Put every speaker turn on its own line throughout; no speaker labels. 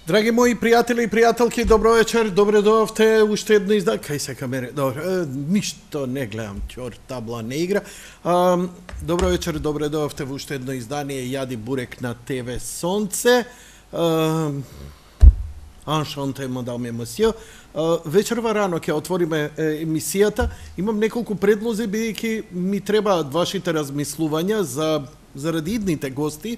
Драги мои пријатели и пријателки, добро вечер, добре дојавте уште едно издание. Кај се камере? Добро, ништо не гледам, ќор, табла не игра. Добро вечер, добре дојавте во уште едно издание Јади бурек на ТВ Сонце. Аншанте, мадам и месио. Вечерва рано ќе отвориме емисијата. Имам неколку предлози, бидејќи ми требаат вашите размислувања заради идните гости,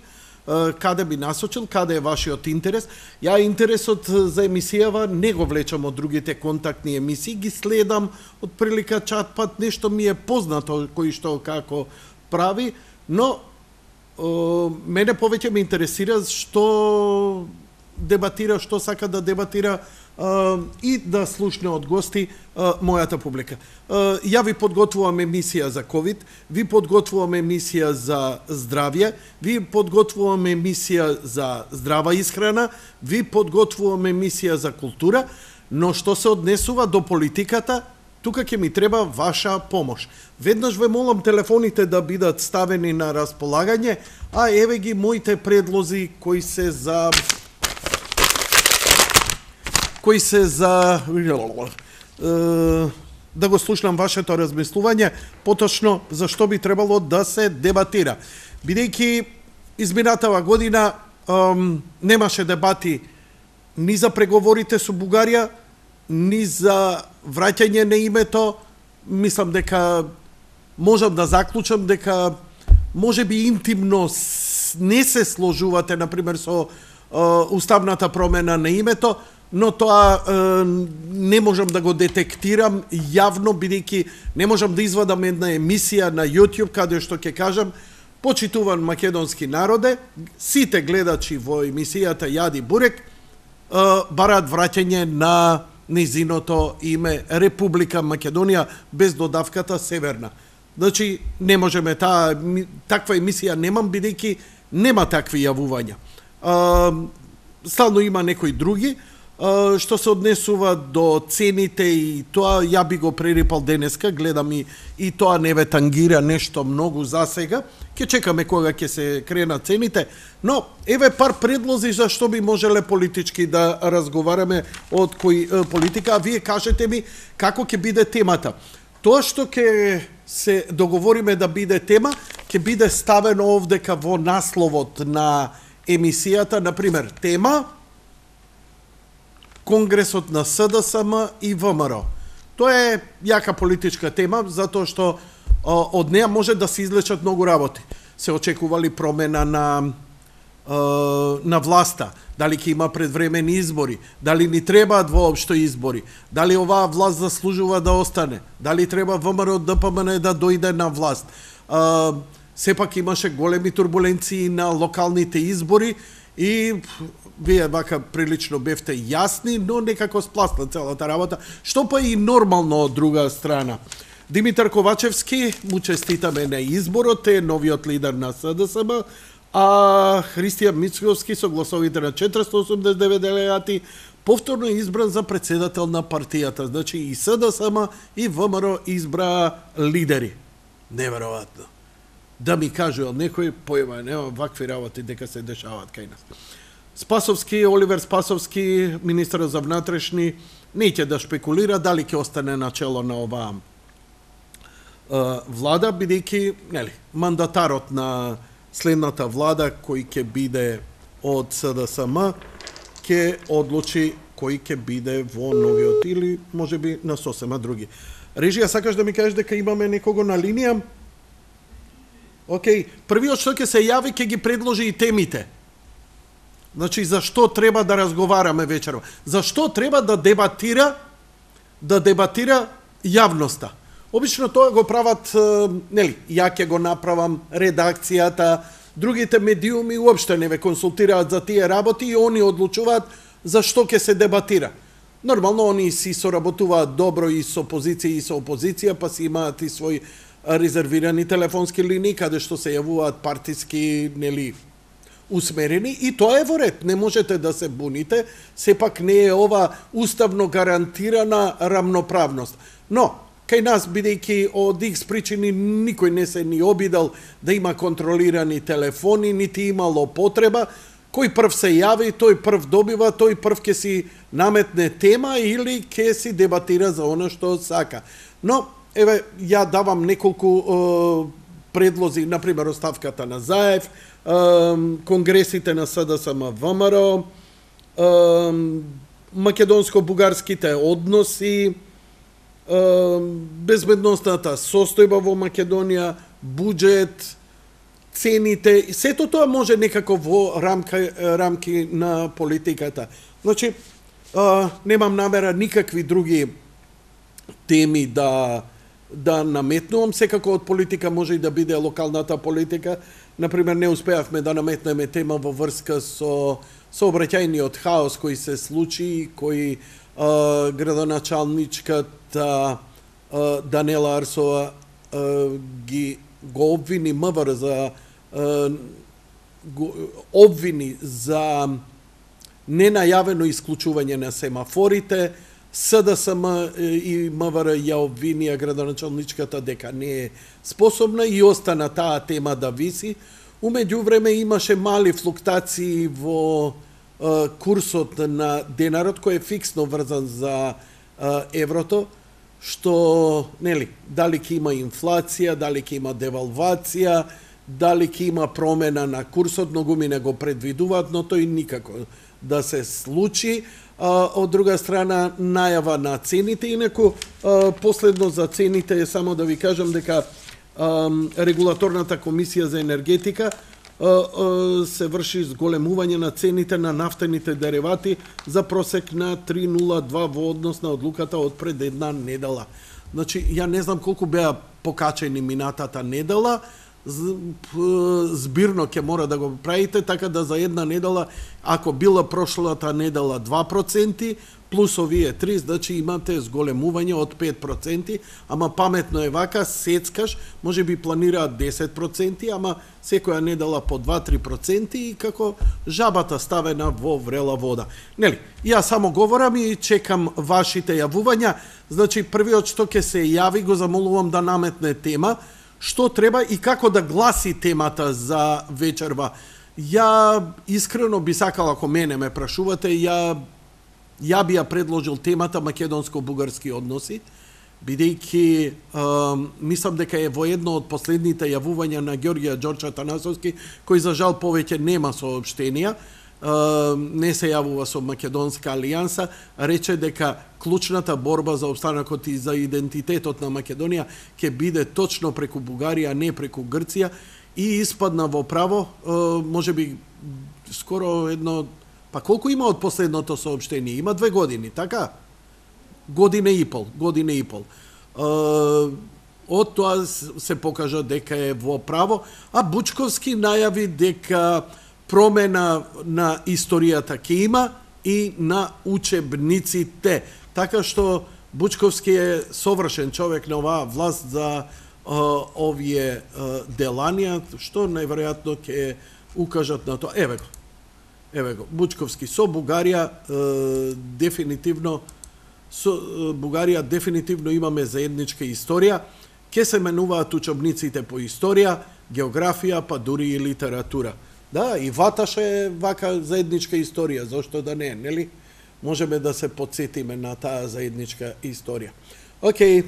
каде би насочил, каде е вашиот интерес. Ја интересот за емисијава не го влечам од другите контактни емисии, ги следам од прилика чат-пат, нешто ми е познато кој што како прави, но мене повеќе ме интересира што дебатира, што сака да дебатира и да слушне од гости мојата публика. Ја ви подготвувам емисија за ковид, ви подготвувам емисија за здравје, ви подготвувам емисија за здрава исхрана, ви подготвувам емисија за култура, но што се однесува до политиката, тука ќе ми треба ваша помош. Веднаш ве молам телефоните да бидат ставени на располагање, а еве ги моите предлози кои се за да го слушнам вашето размислување, поточно за што би требало да се дебатира. Бидејќи изминатава година немаше дебати ни за преговорите со Бугарија, ни за враќање на името. Мислам дека можам да заклучам дека можеби интимно не се сложувате, например, со уставната промена на името, но тоа не можам да го детектирам јавно, бидејќи не можам да извадам една емисија на YouTube каде што ќе кажам: почитуван македонски народе, сите гледачи во емисијата Јади бурек бараат враќање на низиното име Република Македонија без додавката Северна. Значи, не можеме таква емисија немам, бидејќи нема такви јавувања. Стално има некои други. Што се однесува до цените и тоа, ја би го прерипал денеска, гледам и тоа не ве тангира нешто многу за сега. Ќе чекаме кога ќе се кренат цените, но еве пар предлози за што би можеле политички да разговараме од кој политика, а вие кажете ми како ќе биде темата. Тоа што ќе се договориме да биде тема, ќе биде ставено овдека во насловот на емисијата, например, тема Конгресот на СДСМ и ВМРО. Тоа е јака политичка тема, затоа што од неа може да се излечат многу работи. Се очекували промена на власта, дали ќе има предвремени избори, дали ни требаат воопшто избори, дали оваа власт заслужува да остане, дали треба ВМРО ДПМН да дојде на власт. Сепак имаше големи турбуленции на локалните избори и вие вака прилично бевте јасни, но некако спласна целата работа, што па и нормално од друга страна. Димитар Ковачевски, му честитаме на изборот, е новиот лидер на СДСМ, а Христијан Мицковски со гласовите на 489 делегати повторно е избран за председател на партијата. Значи и СДСМ и ВМРО избра лидери. Неверојатно. Да ми кажува некој, појма, нема вакви работи дека се дешаваат кај нас. Спасовски, Оливер Спасовски, министер за внатрешни, не ќе да шпекулира дали ќе остане начело на оваа влада, бидејќи мандатарот на следната влада, кој ќе биде од СДСМ, ќе одлучи кој ќе биде во новиот или можеби на сосема други. Режија, сакаш да ми кажеш дека имаме некого на линија? Океј, првиот што ќе се јави ќе ги предложи и темите. Значи, зашто треба да разговараме вечерва? Зашто треба да дебатира јавноста? Обично тоа го прават, ја ќе го направам, редакцијата, другите медиуми уопште не ве консултираат за тие работи и они одлучуваат за што ќе се дебатира. Нормално, они си соработуваат добро и со позиција и со опозиција, па си имаат и своји резервирани телефонски линии, каде што се јавуваат партиски, усмерени, и тоа е во ред, не можете да се буните, сепак не е ова уставно гарантирана рамноправност. Но, кај нас, бидејќи од X причини никој не се ни обидел да има контролирани телефони, нити имало потреба, кој прв се јави, тој прв добива, тој прв ќе си наметне тема или ќе си дебатира за она што сака. Но, еве, ја давам неколку предлози, например, оставката на Заев, конгресите на СДСМ ВМРО, македонско-бугарските односи, безбедностната состојба во Македонија, буџет, цените, сето тоа може некако во рамки на политиката. Значи, немам намера никакви други теми да наметнувам, секако од политика може и да биде локалната политика. Например, не успеавме да наметнеме тема во врска со сообраќајниот хаос кој се случи, кој градоначалничката Данела Арсова го обвини МВР обвини за ненајавено исклучување на семафорите, СДСМ и МВР ја обвинија градоначалничката дека не е способна и остана таа тема да виси. Умеѓу време имаше мали флуктации во курсот на денарот кој е фиксно врзан за еврото, што, нели, дали ќе има инфлација, дали ќе има девалвација, дали ќе има промена на курсот, многуми не го предвидуваат, но тој никако да се случи. Од друга страна, најава на цените, инаку последно за цените е само да ви кажам дека Регулаторната комисија за енергетика се врши зголемување на цените на нафтените деривати за просек на 3,02 во однос на одлуката од пред една недела. Значи, ја не знам колку беа покачени минатата недела, збирно ќе мора да го правите, така да за една недела, ако била прошлата недела 2%, плюс овие 3, значи имате зголемување од 5%, ама паметно е вака, сецкаш, може би планираат 10%, ама секоја недела по 2-3% и како жабата ставена во врела вода. Нели, ја само говорам и чекам вашите јавувања, значи првиот што ќе се јави, го замолувам да наметне тема, што треба и како да гласи темата за вечерва. Ја искрено би сакал, ако мене ме прашувате, ја би ја предложил темата македонско-бугарски односи, бидејќи мислам дека е во едно од последните јавувања на Ѓорѓија Ѓорче Атанасовски, кој за жал повеќе нема соопштенија, не се јавува со Македонска алијанса, рече дека клучната борба за опстанокот и за идентитетот на Македонија ќе биде точно преку Бугарија, не преку Грција, и испадна во право, може би скоро едно. Па колку има од последното соопштение? Има 2 години, така? Година и пол. Од тоа се покажа дека е во право, а Бучковски најави дека промена на историјата ќе има и на учебниците. Така што Бучковски е совршен човек на оваа власт за овие деланија, што најверојатно ќе укажат на тоа. Еве го, Бучковски со Бугарија дефинитивно имаме заедничка историја, ќе се менуваат учебниците по историја, географија, па дури и литература. Да, и Ваташ е вака заедничка историја, зошто да не, нели? Можеме да се подсетиме на таа заедничка историја. Океј,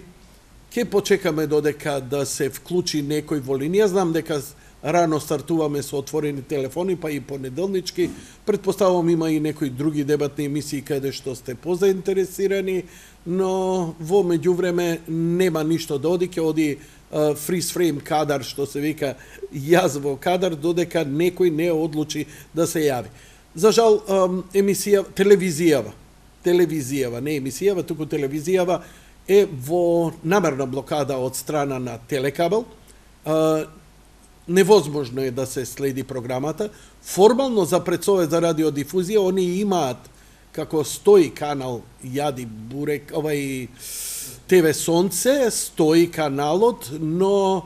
ќе почекаме додека да се вклучи некој во линија. Знам дека рано стартуваме со отворени телефони, па и понеделнички. Предпоставувам има и некои други дебатни емисии каде што сте позаинтересирани, но во меѓувреме нема ништо да оди, ќе оди freeze frame кадар, што се вика, јас во кадар, додека некој не одлучи да се јави. За жал, телевизијава, не емисијава, туку телевизијава е во намерна блокада од страна на Телекабел. Невозможно е да се следи програмата. Формално за предсовет за радиодифузија, они имаат како стои канал Јади Бурек, ТВ Сонце, стои каналот, но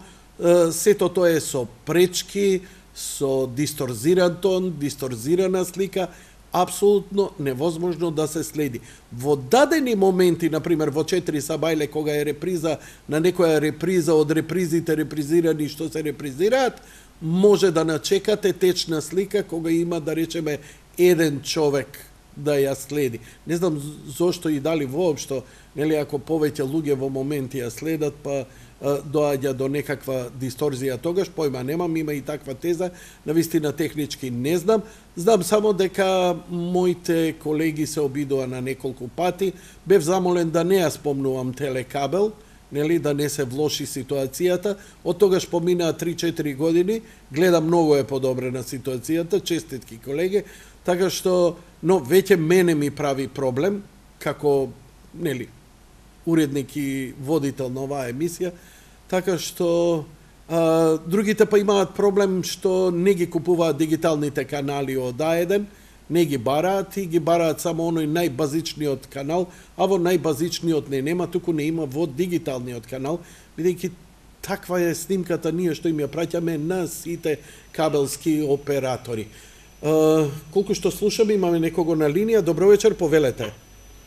сето тоа е со пречки, со дисторзиран тон, дисторзирана слика, апсолутно невозможно да се следи. Во дадени моменти, например во 4 сабајле, кога е реприза на некоја реприза од репризите репризирани што се репризираат, може да начекате течна слика кога има, да речеме, еден човек да ја следи. Не знам зошто и дали воопшто, нели, ако повеќе луѓе во моменти ја следат, па доаѓа до некаква дисторзија тогаш, појма немам, има и таква теза, навистина технички не знам. Знам само дека моите колеги се обидува на неколку пати. Бев замолен да не ја спомнувам Телекабел, нели, да не се влоши ситуацијата. Од тогаш поминаа 3-4 години, гледам многу е подобрена ситуацијата, честитки колеги, така што, но веќе мене ми прави проблем, како, нели, уредник и водител на оваа емисија, така што другите па имаат проблем што не ги купуваат дигиталните канали од А1, не ги бараат и ги бараат само оној најбазичниот канал, а во најбазичниот не нема, туку не има во дигиталниот канал, бидејќи таква е снимката ние што им ја праќаме на сите кабелски оператори. Колку што слушаме, имаме некого на линија. Добро вечер, повелете.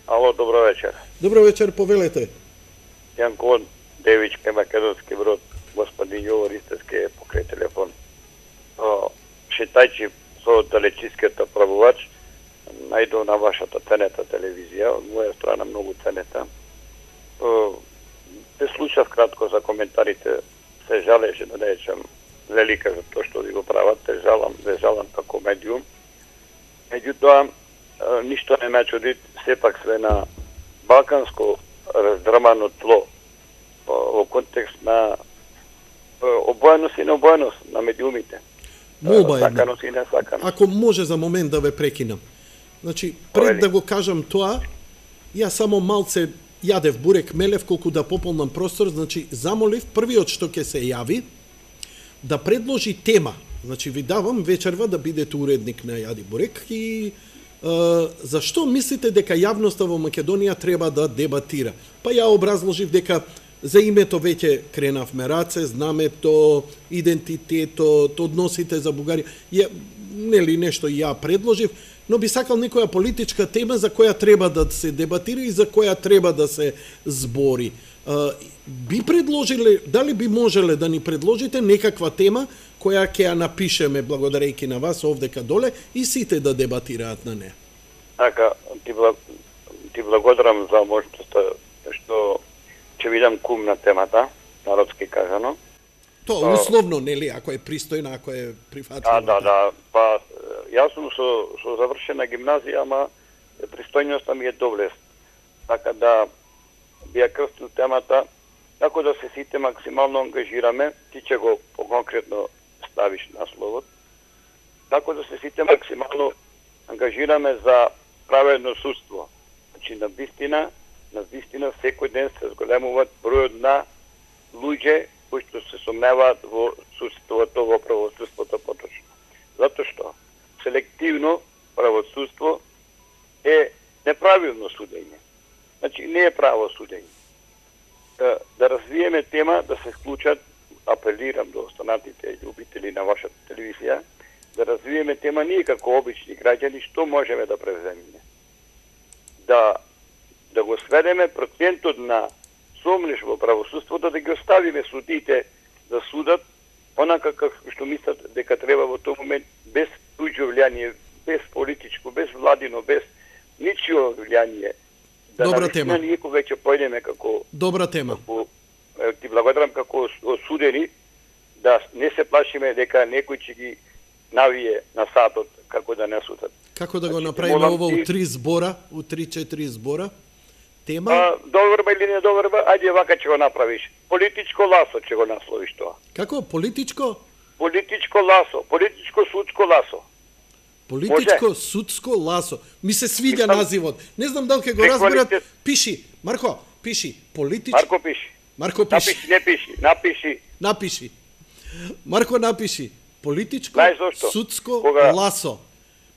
Ало, добро вечер.
Добро вечер, повелете.
Јанко Девичке, Македонски Брод, господин Јовор Истевски покрај телефон. Шитајќи со далечиската правувач, најдов на вашата ценета телевизија, од моја страна многу ценета. Се слушав кратко за коментарите, се жалеше да речам велика за тоа што ви го прават, се жалам како медиум. Меѓутоа, ништо не ме чуди, сепак све на балканско раздрмано тло во контекст на обоеност и необоеност на медиумите. Саканост и несаканост.
Ако може за момент да ве прекинам. Значи, пред да го кажам тоа, ја само малце јадев бурек мелев колку да пополнам простор, значи замолив првиот што ќе се јави да предложи тема. Значи ви давам вечерва да бидете уредник на Јади бурек и зашто мислите дека јавноста во Македонија треба да дебатира? Па ја образложив дека за името веќе кренавме раце, знамето, идентитетот, односите за Бугарија, нели нешто ја предложив, но би сакал некоја политичка тема за која треба да се дебатира и за која треба да се збори. Би предложиле, дали би можеле да ни предложите некаква тема која ќе ја напишеме благодарејќи на вас овдека доле и сите да дебатираат на неа?
Така, ти благодарам за можноста што ќе видам кум на темата, народски кажано.
Тоа условно, нели, ако е пристојна, ако е прифатлива.
Да. Па, јас сум со завршена гимназија, ама пристојноста ми е доблест. Така да би ја крстил темата, како да се сите максимално ангажираме, ти ќе го конкретно ставиш насловот, како да се сите максимално ангажираме за праведно судство. Значи, на вистина секој ден се зголемуваат бројот на луѓе кои што се сомневаат во судството, во правосудството поточно. Затоа што селективно правосудство е неправилно судење. Значи, не е право судење. Да развиеме тема, да се вклучат, апелирам до останатите љубители на вашата телевизија, да развиеме тема ние како обични граѓани, што можеме да превземеме. Да го сведеме процентот на сомнеш во правосудството, да ги оставиме судите да судат онака како што мислат дека треба во тој момент, без туѓо влијание, без политичко, без владино, без ничио влијание.
Добра тема.
Ние веќе појдеме како...
Добра тема.
Ти благодарам како осудени, да не се плашиме дека некој ќе ги навие на сатот како да не судат.
Како да го направиме ова у 3 збора, у 3-4 збора? Тема?
Доверба или не доверба, ајде вака ќе го направиш. Политичко ласо ќе го насловиш тоа.
Како? Политичко?
Политичко ласо, политичко-судско ласо.
Политичко-судско ласо. Ми се свиѓа називот. Не знам дали ќе го разберат. Пиши, Марко, пиши.
Марко пиши.
Марко пиши.
Не пиши,
напиши. Марко напиши. Политичко-судско ласо.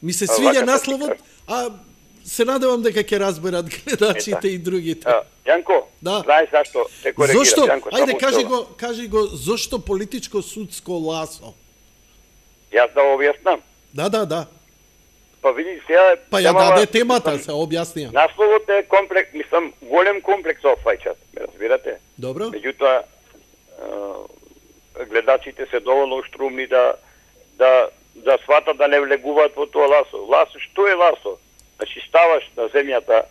Ми се свиѓа насловот, а се надевам дека ќе разберат гледачите и другите.
Јанко, знаеш зашто те коригирам?
Зошто?
Јанко,
ајде, кажи го, зошто политичко-судско ласо?
Јас да објаснам.
Да.
Па види сега...
Па ја даде темата, се објаснија.
Насловот е комплекс, голем комплекс офајчат, ме разбирате?
Добро.
Меѓутоа, гледачите се доволно штрумни да сватат да не влегуваат во тоа ласо. Ласо, што е ласо? Значи ставаш на земјата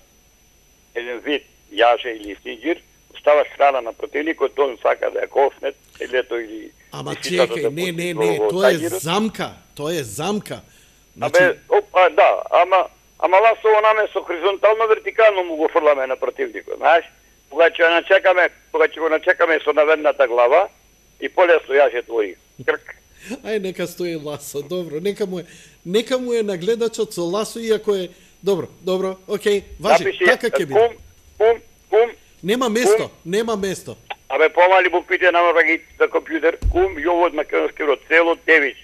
еден вид јаже или синџир, ставаш храна на противникот, он сака да ја кофне, или или
ама чекај, не, тоа е замка, тоа е замка.
Значи... да, ама ласово наме со хоризонтално вертикално му го фрламе на противникот, знаеш? Кога ќе го начекаме со наведната глава и полесно јаже твои крк.
Ај, нека стои ласо, добро, нека му е на гледачот со ласо, иако е... Добро, окей, важи, така ќе биде.
Кум.
Нема место.
Абе, помали буквите намора ги за компјутер, кум, Јово од македонски род, село Девич.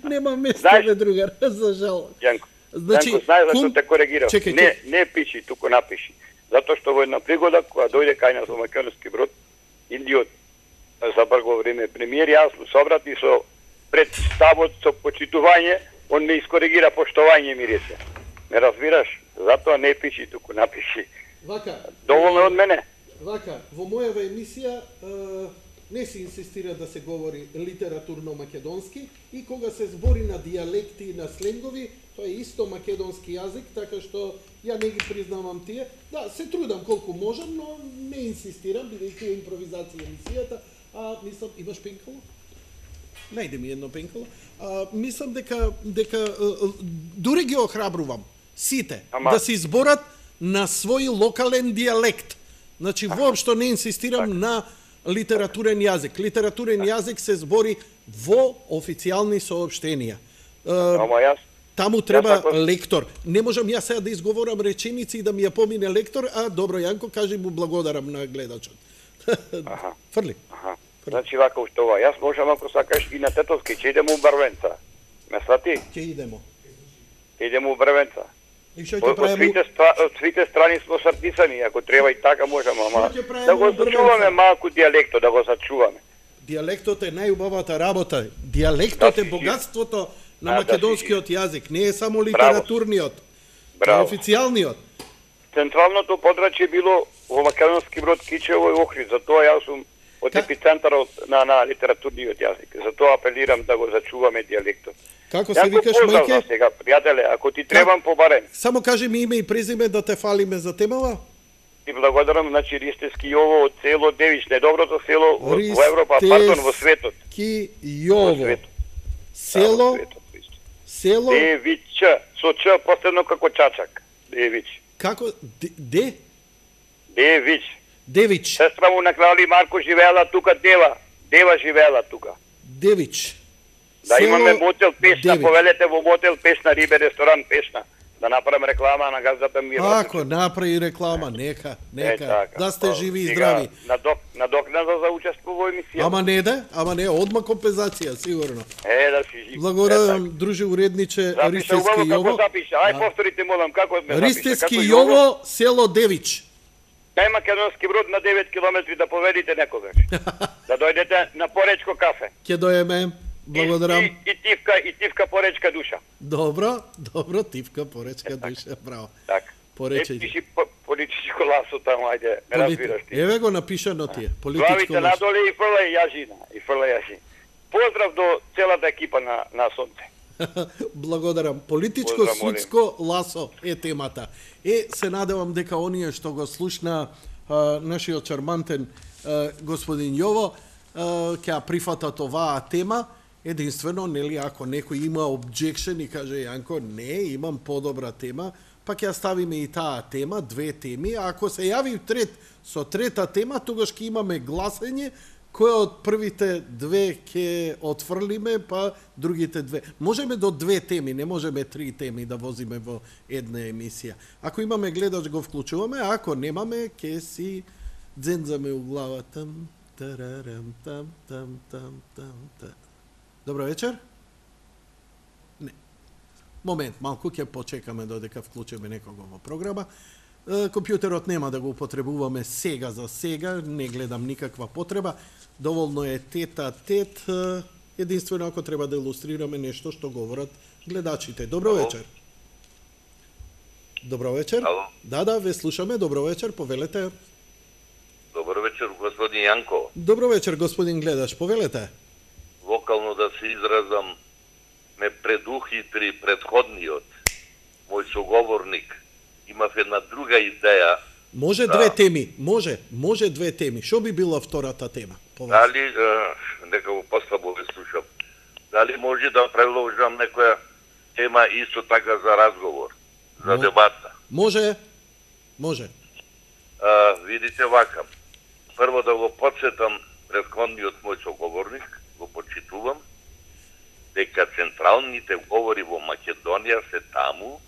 Нема место, бе, другар, за жал.
Јанко, знаеш зашто те коригирав. Не пиши, туку напиши. Затоа што во една пригода, кога дојде кај нас во Македонски Брод, Индиот, за брго време премиер, јас се обрати со представот, со почитување, он ме искоригира, поштовање ми рече. Ме разбираш? Затоа не пиши, туку напиши.
Вака.
Доволно од мене.
Вака, во мојава емисија не се инсистира да се говори литературно македонски и кога се збори на дијалекти и на сленгови, тоа е исто македонски јазик, така што ја не ги признавам тие. Да, се трудам колку можам, но не инсистирам, бидејќи е импровизација емисијата. Мислам, имаш пенкало? Најде ми едно пенкало. Мислам дека дури ги охрабрувам сите да се изборат на свој локален дијалект. Значи, воопшто не инсистирам на литературен јазик. Литературен јазик се збори во официјални соопштенија. Таму треба лектор. Не можам јас сега да изговорам реченици и да ми ја помине лектор, добро, Јанко, кажи му благодарам на гледачот. Фрли.
Значи, вака ушто ова, јас можам, ако сакаш, и на Тетовски, ќе идемо у Брвенца. Ме свати?
Ќе идемо.
Идемо у Брвенца. Од свите страни смо сартисани, ако треба и така можеме, ама да го зачуваме малку дијалектот, да го зачуваме.
Дијалектот е најубавата работа. Дијалектот е богатството на македонскиот јазик, не е само литературниот, е официјалниот.
Централното подрачје било во Македонски Брод, Кичево и Охрид, затоа јас сум од епицентарот на литературниот јазик. Затоа апелирам да го зачуваме дијалектот.
Како се викаш, мајке?
Сега, пријателе, ако ти требам побарем.
Само кажи ми име и презиме да те фалиме за темава.
Ти благодарам, значи Ристевски Јово од село Девич, недоброто село во Европа, во светот.
Ристевски Јово. Село
Девич, со Ч последно како чачак. Девич.
Како де?
Девич. Сестра му на крали Марко живеела тука, Дева живеела тука.
Девич.
Да имаме мотел Пешна, повелете во мотел Пешна, рибе ресторан Пешна. Да направам реклама на газдата ми.
Ако направи реклама, нека. Да сте живи и здрави.
Надокнада за учество во емисија.
Ама не, одма компензација, сигурно.
Да си жив.
Благодарам, друже уредниче Ристевски Јово.
Ај повторите, молам, како ме запиша.
Ристевски Јово, село Девич.
Кај Македонски Брод на 9 километри да поведите некогаш. Да дојдете на Поречко кафе.
Ќе дојдеме. Благодарам.
И тивка поречка душа.
Добро, тивка поречка душа, браво.
Така.
Порече.
Пиши политичко ласо таму, ајде, ме разбираш ти.
Еве го напишано тие, политичко ласо.
Главите надоле и фрлај јажина, Поздрав до целата екипа на Сонце.
Благодарам. Политичко-судско ласо е темата. Се надевам дека оние што го слушна нашиот чармантен господин Јово ќе прифатат оваа тема. Единствено, нели, ако некој има objection и каже, Јанко, не, имам подобра тема, па ќе ставиме и таа тема, две теми, а ако се јави со трета тема, тогаш ќе имаме гласење, која од првите две ќе отфрлиме, па другите две. Можеме до две теми, не можеме три теми да возиме во една емисија. Ако имаме гледач, го вклучуваме, а ако немаме, ќе си дзензаме у главата. Добро вечер. Не. Момент, малку ќе почекаме додека вклучиме некого во програма. Компјутерот нема да го употребуваме сега за сега, не гледам никаква потреба. Доволно е тет, единствено ако треба да илустрираме нешто што говорат гледачите. Добро вечер. Добро вечер.
Ало.
Да, ве слушаме. Добро вечер, повелете.
Добро вечер. вечер, господин Јанко.
Добро вечер, господин гледач, повелете.
Вокално да се изразам, ме предухитри предходниот, мој соговорник. Имав една друга идеја.
Може две теми, може две теми. Што би била втората тема?
Дали, нека го послабо ве слушам, дали може да предложам некоја тема исто така за разговор, за дебата?
Може.
Видите вака, прво да го подсетам предходниот мој соговорник, го почитувам, дека централните говори во Македонија се таму,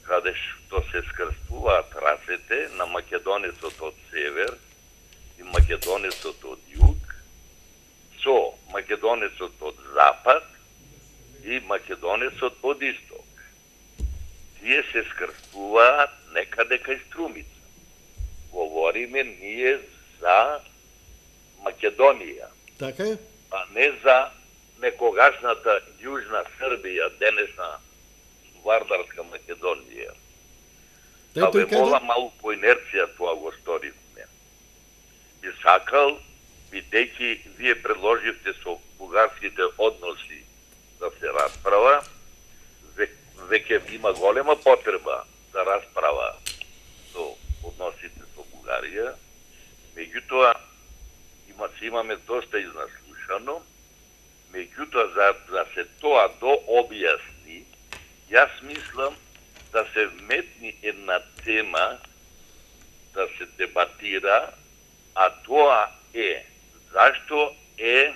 каде што се скрстуваат расете на македонецот од север и македонецот од југ, со македонецот од запад и македонецот од исток. Тие се скрстуваат некаде кај Струмица. Говориме ние за Македонија.
Така е?
А не за некогашната Јужна Србија, денешна Вардарска Македонија.
Да
ве молам малку по инерција тоа го сторивме. Би сакал, бидејќи вие предложивте со бугарските односи да се расправа, веќе има голема потреба за расправа со односите со Бугарија, меѓутоа имаме доста изнаслушано, меѓутоа за се тоа дообјасни, јас мислам да се вметни една тема да се дебатира, а тоа е зашто е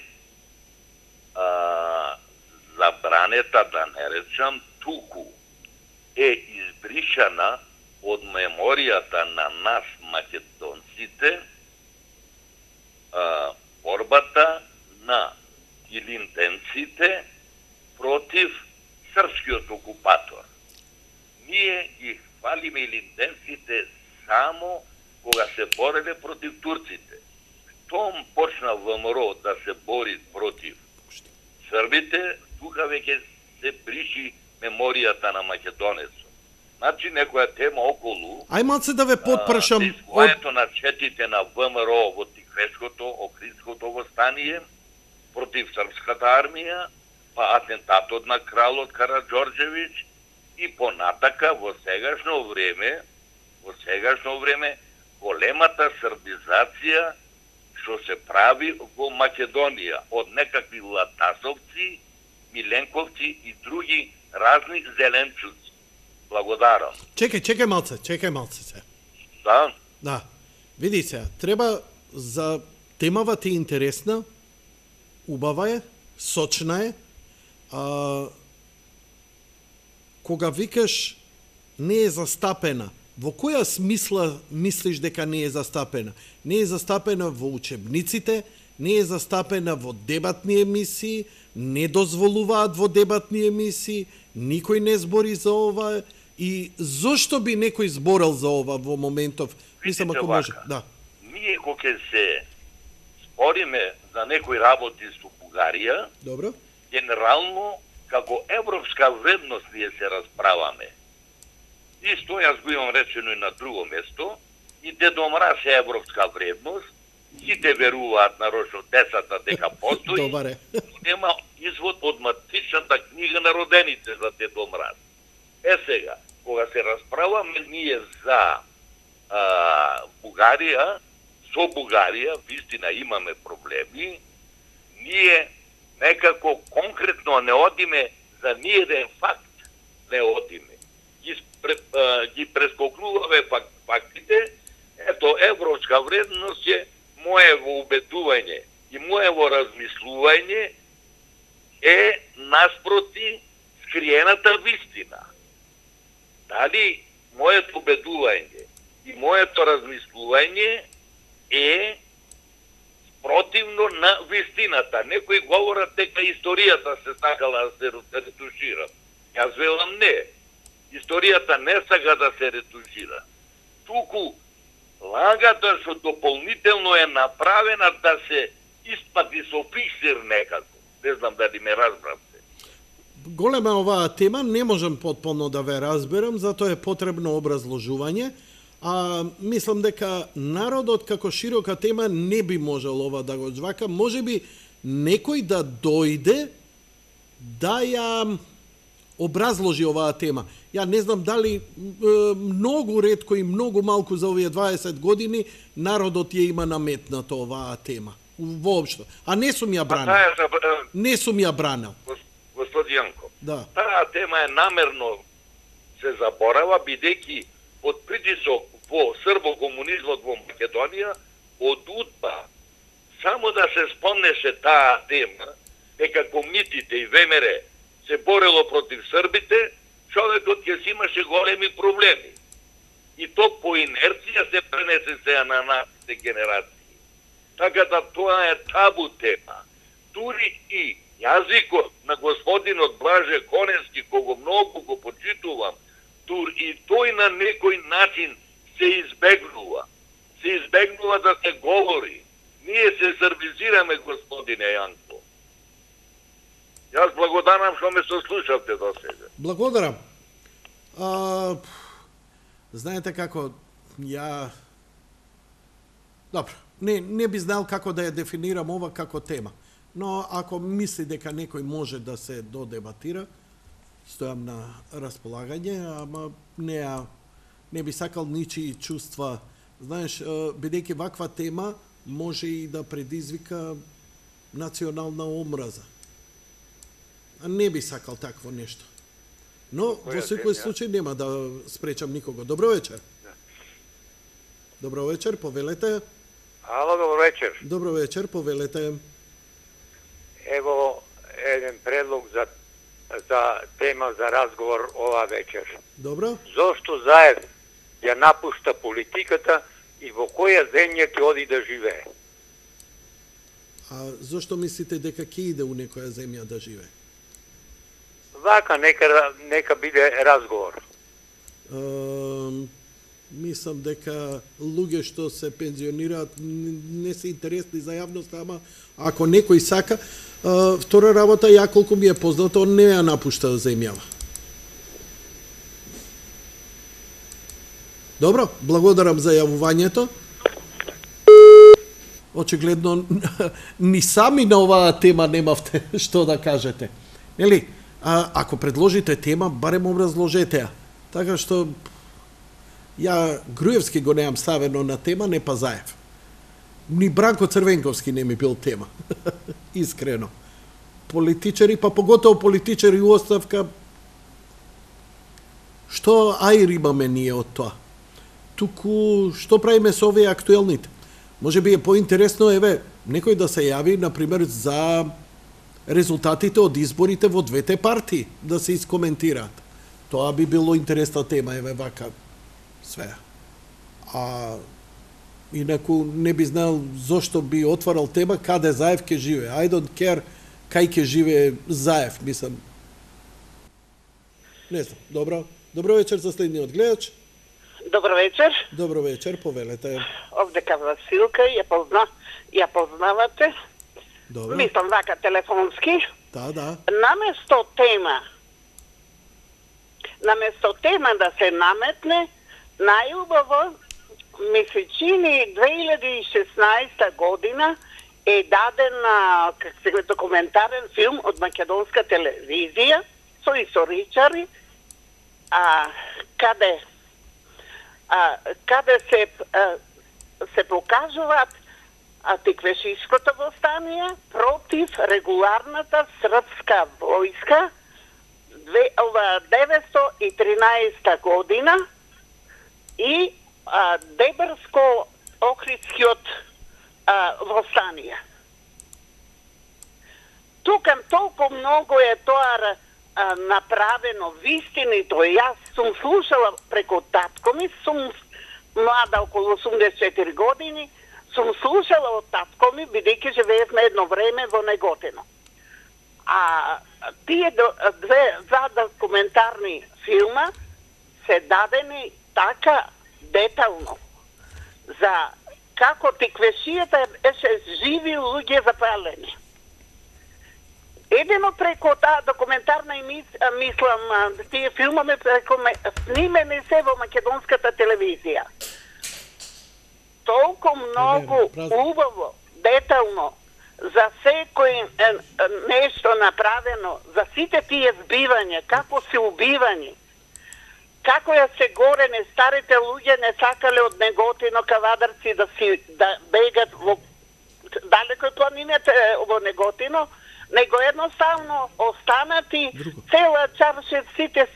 забранета, да не речам, туку е избришана од меморијата на нас македонците борбата на илинденците против српскиот окупатор. Ние ги хвалиме илинденците само кога се бореле против турците. Штом почна ВМРО да се бори против србите, тука веќе се бриши меморијата на македонецот. Значи, некоја тема околу...
Ајмалце да ве подпрашам...
Искојето на четите на ВМРО во Тиквешкото, Охридското востание, против српската армија, па атентатот на кралот Караџорџевиќ и понатака во сегашно време, големата србизација што се прави во Македонија од некакви латасовци, миленковци и други разни зеленчуци. Благодарам.
Чекај малце се.
Да?
Да. Види се, треба за темава ти интересна, убава е, сочна е, кога викаш не е застапена, во која смисла мислиш дека не е застапена? Не е застапена во учебниците, не е застапена во дебатни емисии, не дозволуваат во дебатни емисии, никој не збори за ова и зошто би некој зборел за ова во моментов? Мислам ако може. Да.
Ние кога се спориме за некои работи со Бугарија,
добро,
генерално како европска вредност ние се расправаме. Исто јас го имам речено и на друго место, и Дедо Мраз е европска вредност, сите веруваат нарочно децата дека постои,
добаре,
нема извод од матичната книга на родените за Дедо Мраз. Сега, кога се расправаме ние за Бугарија, со Бугарија, вистина имаме проблеми, ние некако конкретно не одиме за ниеден факт, не одиме. Ги прескокнуваме фактите, ето, европска вредност е моево убедување и моево размислување е наспроти скриената вистина. Дали моето убедување и моето размислување е противно на вистината. Некои говорат дека историјата се сакала да се ретушира. Јас велам не. Историјата не сака да се ретушира. Туку лагата што дополнително е направена да се испати со фиксир некако. Не знам дали ме разбравте.
Голема оваа тема, не можам потполно да ве разберам, затоа е потребно образложување. Мислам дека народот како широка тема не би можел ова да го жвака. Може би некој да дојде да ја образложи оваа тема. Ја не знам дали многу ретко и многу малку за овие 20 години народот ја има наметната оваа тема. Воопшто. А не сум ја бранил. Не сум ја бранил.
Господи Јанко,
да.
Таа тема е намерно се заборава, бидејќи под притисок во србо-комунизмот во Македонија, од УДБА, само да се спомнеше таа тема, дека комитите и ВМРО се борело против србите, човекот ќе си имаше големи проблеми. И то по инерција се пренесе сега на нашите генерации. Така да тоа е табу тема. Дури и јазикот на господинот Блаже Коневски, кого многу го почитувам, дури и тој на некој начин се избегнува. Се избегнува да се говори. Ние се сервизираме, господине Јанко. Јас благодарам што ме сослушавте до сега.
Благодарам. Знаете како, ја... Добро, не би знал како да ја дефинирам ова како тема. Но ако мисли дека некој може да се додебатира, стојам на располагање, ама не би сакал ничии чувства. Знаеш, бидејќи ваква тема може и да предизвика национална омраза. А не би сакал такво нешто. Но во секој случај нема да спречам никого. Добро вечер. Добро вечер, повелете.
Ало, добро вечер.
Добро вечер, повелете.
Ево еден предлог за тема за разговор ова вечер.
Добро.
Зошто Заев ја напушта политиката и во која земја ќе оди да живее?
А зошто мислите дека ќе иде у некоја земја да живее?
Вака, нека биде разговор.
Мислам дека луѓе што се пензионираат не се интересни за јавноста, ама ако некој сака, втора работа, ја колку ми е познато, он не ја напушта земјава. Добро, благодарам за јавувањето. Очигледно, ни сами на оваа тема немавте што да кажете. Нели? Ако предложите тема, барем образложете ја. Така што ја Груевски го неам ставено на тема, не па Заев. Ни Бранко Црвенковски не ми бил тема. Искрено. Политичари, па поготово политичари у оставка, што аир имаме ние од тоа? Туку, што правиме со овие актуелните? Може би е поинтересно, еве, некој да се јави, например, за резултатите од изборите во двете партии, да се искоментираат. Тоа би било интересна тема, еве вака, све. Инаку не би знал зошто би отварал тема каде Заев ќе живее. I don't care кај ќе живее Заев, мислам. Не знам, добро. Добро вечер за следниот гледач.
Добро вечер.
Добро вечер, повелете.
Овдека Василка, ја познавате.
Добро.
Мислам вака телефонски.
Да.
Наместо тема да се наметне, најубаво ми се чини 2016 година е даден документарен филм од македонска телевизија со историчари, каде се покажуваат антиквешишкото востание против регуларната српска војска 1913 година и Дебрско-Охридскиот востание. Тукам толку многу е тоа направено вистинито. Јас сум слушала преку татко ми, сум млада околу 84 години, сум слушала од татко ми, бидејќи живеевме едно време во Неготино. Тие два документарни филма се дадени така детално за како тиквешијата беше живи луѓе запалени. Едено преку таа документарна мислам, тие филмови снимени се во македонската телевизија. толку многу убаво, детално, за секој нешто направено, за сите тие збивања, како се убивани, како ја се горени, старите луѓе не сакале од Неготино Кавадарци да бегат во далеко планините во Неготино, него едноставно останати цела чаршет, сите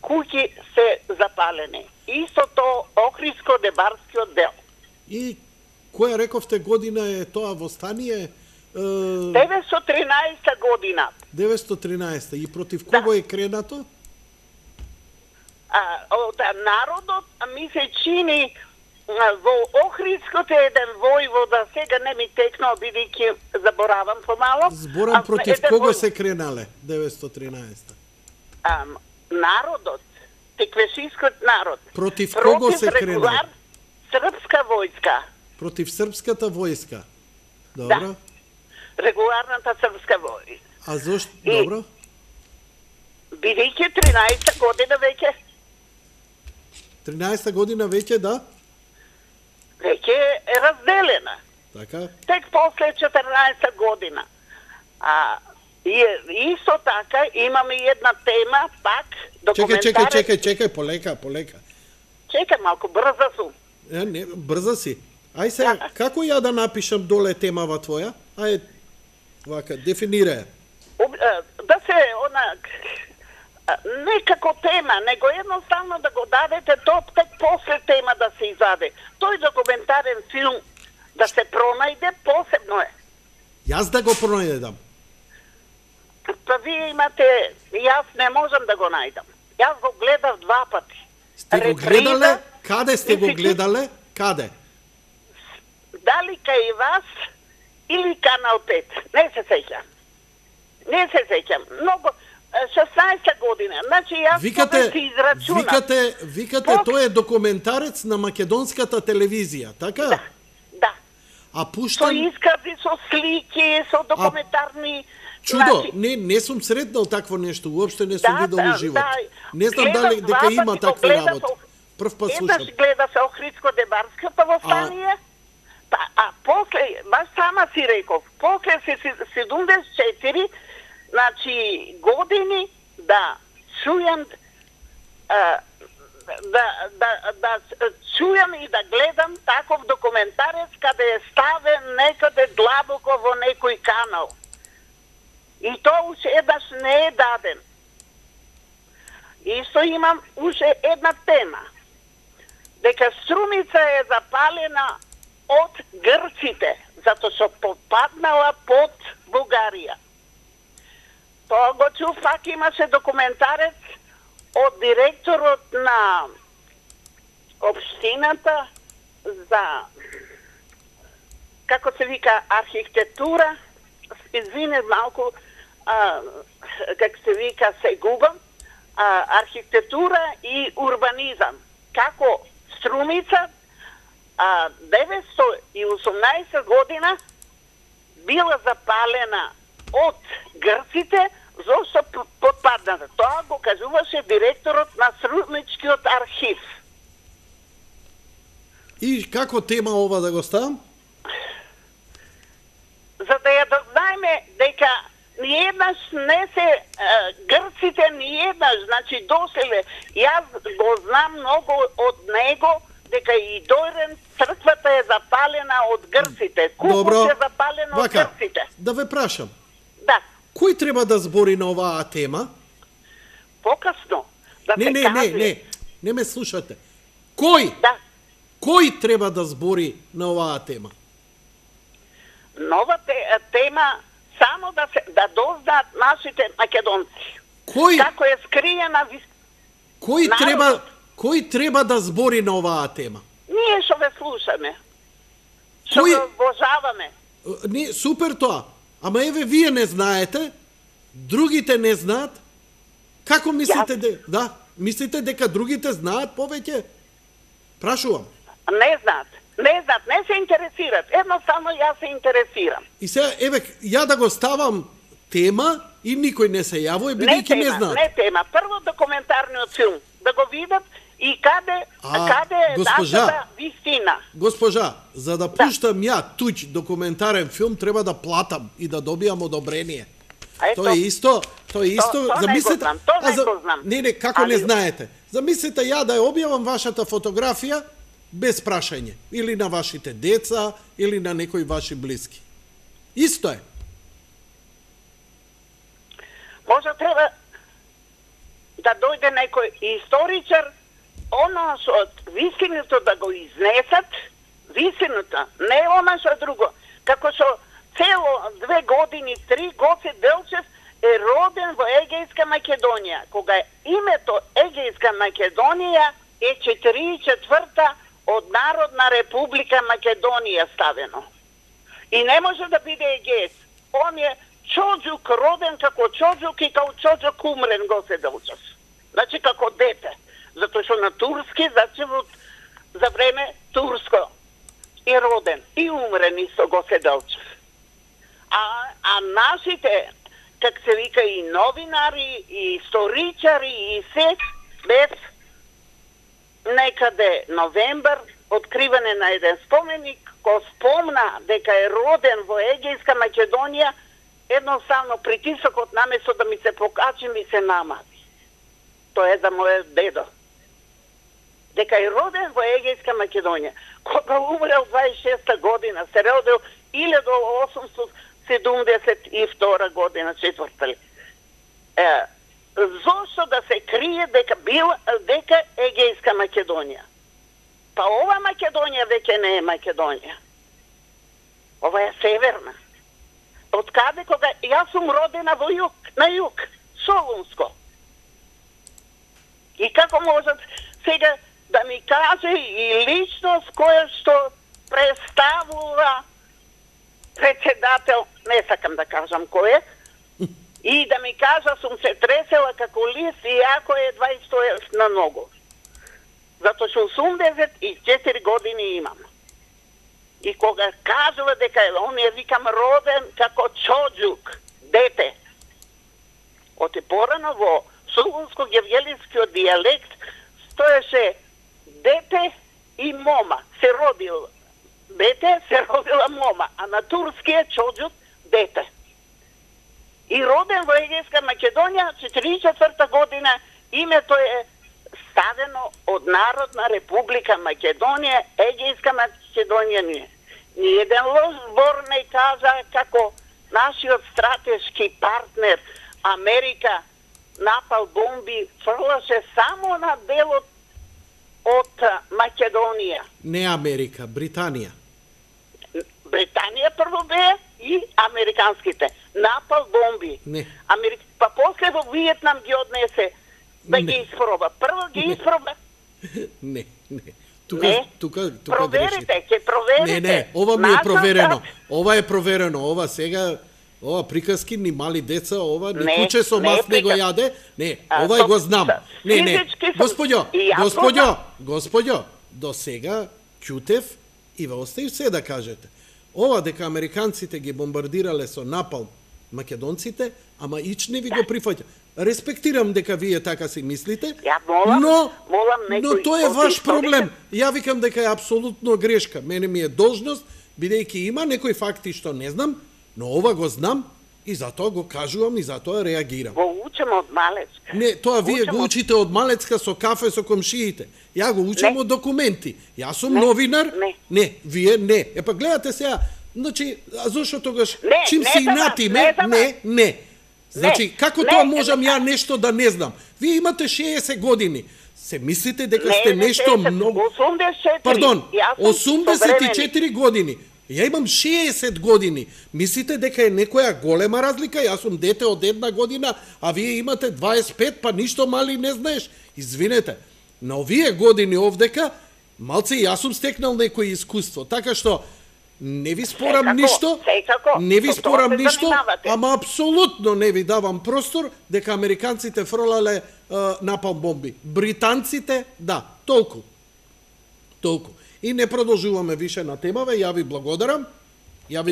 куќи се запалени. Истото Охридско-Дебарскиот дел.
И која рековте година е тоа востание?
913 година.
913. И против кого е кренато?
Од народот, ми се чини во Охридското еден војвода, сега не ми текнал, бидејќи заборавам помало.
Зборам против кого се кренале 913?
Народот, теквешискиот народ.
Против кого се кренале?
Српска војска.
Против српската војска. Добро.
Да. Регуларната српска војска.
А зошто? Добро.
Бидејќи 13 година веќе.
13 година веќе, да?
Веќе е разделена.
Така?
Тек после 14 година. И исто така имаме една тема, пак, документарен...
Чекај, полека.
Чекај малку, брза сум.
Не, брза си. Ај сега, како ја да напишам доле темава твоја? Ај, вака, дефинирај.
Да се, не како тема, него едноставно да го дадете тоа тек после тема да се изаде. Тој документарен филм да се пронајде посебно е.
Јас да го пронајдам.
Па вие имате, јас не можам да го најдам. Јас го гледав 2 пати.
Сте го гледале? Каде сте го гледале? Каде?
Дали кај вас или Канал 5? Не се сеќам. Многу 16 година. Значи јас си израчунам.
Викате тој е документарец на македонската телевизија, така?
Да.
А пуштан...
Со искази, со слики, со документарни...
Чудо, не сум сретнал такво нешто, уопште не сум видел во живот. Не знам дали дека има такви работи. Прв пат слушам.
Еднаш гледа се Охридско-Дебарското востание, а после, баш сама си реков, после 74, значи години да чујам да чујам и да гледам таков документарец каде е ставен некаде длабоко во некој канал. И тоа уште еднаш не е даден. Исто имам уште една тема. Дека Струмица е запалена од грците, затоа што попаднала под Бугарија. Тоа го чув, пак имаше документарец од директорот на општината за, како се вика, архитектура, извине малку, како се вика, се губам, архитектура и урбанизам. Како Струмица 918 година била запалена од грците, зашто подпадната. Тоа го кажуваше директорот на Струмичкиот архив.
И како тема ова да го ставам?
За да ја дознаеме дека ниеднаш не се грците ниеднаш, значи доселе. Јас го знам многу од него, дека и Дојрен црквата е запалена од грците. Купус е запалена од грците.
Да ве прашам.
Да.
Кој треба да збори на оваа тема?
Покасно. Да се каже.
Не ме слушате. Кој?
Да.
Кој треба да збори на оваа тема?
Нова тема само да дознаат нашите македонци.
Кој?
Како е скриена
Кој треба да збори на оваа тема?
Ние што ве слушаме. Што ве обожаваме.
Не, супер тоа. Ама еве вие не знаете, другите не знаат. Како мислите мислите дека другите знаат повеќе? Прашувам.
Не знаат, не се интересират. Едноставно јас се интересирам.
И сега, еве, ја да го ставам тема и никој не се јавува, бидејќи не знаат.
Не тема. Прво документарниот филм. да го видат и каде е нашата вистина.
Госпожа, за да пуштам ја туѓ документарен филм, треба да платам и да добијам одобрение. Тоа е исто, замислете, не, како не знаете. Замислете ја да ја објавам вашата фотографија без прашање, или на вашите деца, или на некои ваши блиски. Исто е.
Може треба да дојде некој историчар, оно што вистиното да го изнесат, вистината, не оно што друго. Како што цело 2 години, 3 Гоце Делчев е роден во Егејска Македонија. Кога името Егејска Македонија е 44-та од Народна република Македонија ставено. И не може да биде Егејец. Он е чоđук, роден како чоđук и како чоđук умрен Гоце Делчев. Значи како дете. Затоа што на турски, значи за време турско и роден и умрен исто Гоце Делчев. А нашите, как се вика, и новинари, и историчари, и се, без некаде новембар, откриване на еден споменик, кој спомна дека е роден во Егејска Македонија, едноставно притисокот наместо да ми се покачи, ми се намази. Тоа е за мојот дедо. Дека е роден во Егејска Македонија. Кога умрел 26-та година, се родил 1872 година, четврта ли. Зошто да се крие дека Егејска Македонија? Па ова Македонија веќе не е Македонија. Ова е северна. Од каде кога јас сум родена во југ, на југ, Солунско. И како можат сега да ми каже и личност која што представува председател, не сакам да кажам кој е, и да ми кажа сум се тресела како лист и ако е 20 на ногу. Затоа што 84 години имам. И кога кажува дека он е, викам, роден како чоđук, дете. Оти порано во Солунско-гевгелискиот дијалект стоеше дете и мома. Се родил дете, се родила мома, а на турски е чоđук дете. И роден во Егејска Македонија, 44-та година, името е ставено од Народна република Македонија, Егејска Македонија ние. Ни еден лош збор не кажа како нашиот стратешки партнер Америка напал бомби, фрлаше само на делот од Македонија.
Не Америка, Британија.
Британија прво бе и американските. Напал бомби.
Не.
Па после во Виетнам ги однесе да ги испроба. Прво ги испроба.
Не. Тука
проверите, ќе проверите.
Не, ова ми е проверено. Ова е проверено. Ова сега, ова приказки ни мали деца, ова ни куче со мас не го јаде. Не, ова го знам. Не. Господјо, до сега ќутев и ве оставив се да кажете. Ова дека американците ги бомбардирале со напал македонците, ама ич не ви го прифаќа. Респектирам дека вие така си мислите, но тоа е ваш проблем. Ја викам дека е апсолутно грешка. Мене ми е должност, бидејќи има некои факти што не знам, но ова го знам и затоа го кажувам и затоа реагирам.
Го учам од малецка.
Не, тоа вие го учите од малецка со кафе со комшиите. Ја го учам од документи. Јас сум новинар. Не, вие не. Епа гледате сега, значи, зошто тогаш чим се инатиме? Не. Значи, како тоа можам ја нешто да не знам? Вие имате 60 години. Се мислите дека сте нешто многу...
84.
Пардон, 84 години. Ја имам 60 години. Мислите дека е некоја голема разлика? Јас сум дете од 1 година, а вие имате 25, па ништо мали не знаеш. Извинете, на овие години овдека, малце јас сум стекнал некој искуство. Така што, не ви спорам ништо, ама апсолутно не ви давам простор дека американците фрлале напал бомби. Британците, да, толку. И не продолжуваме више на темаве, ја ви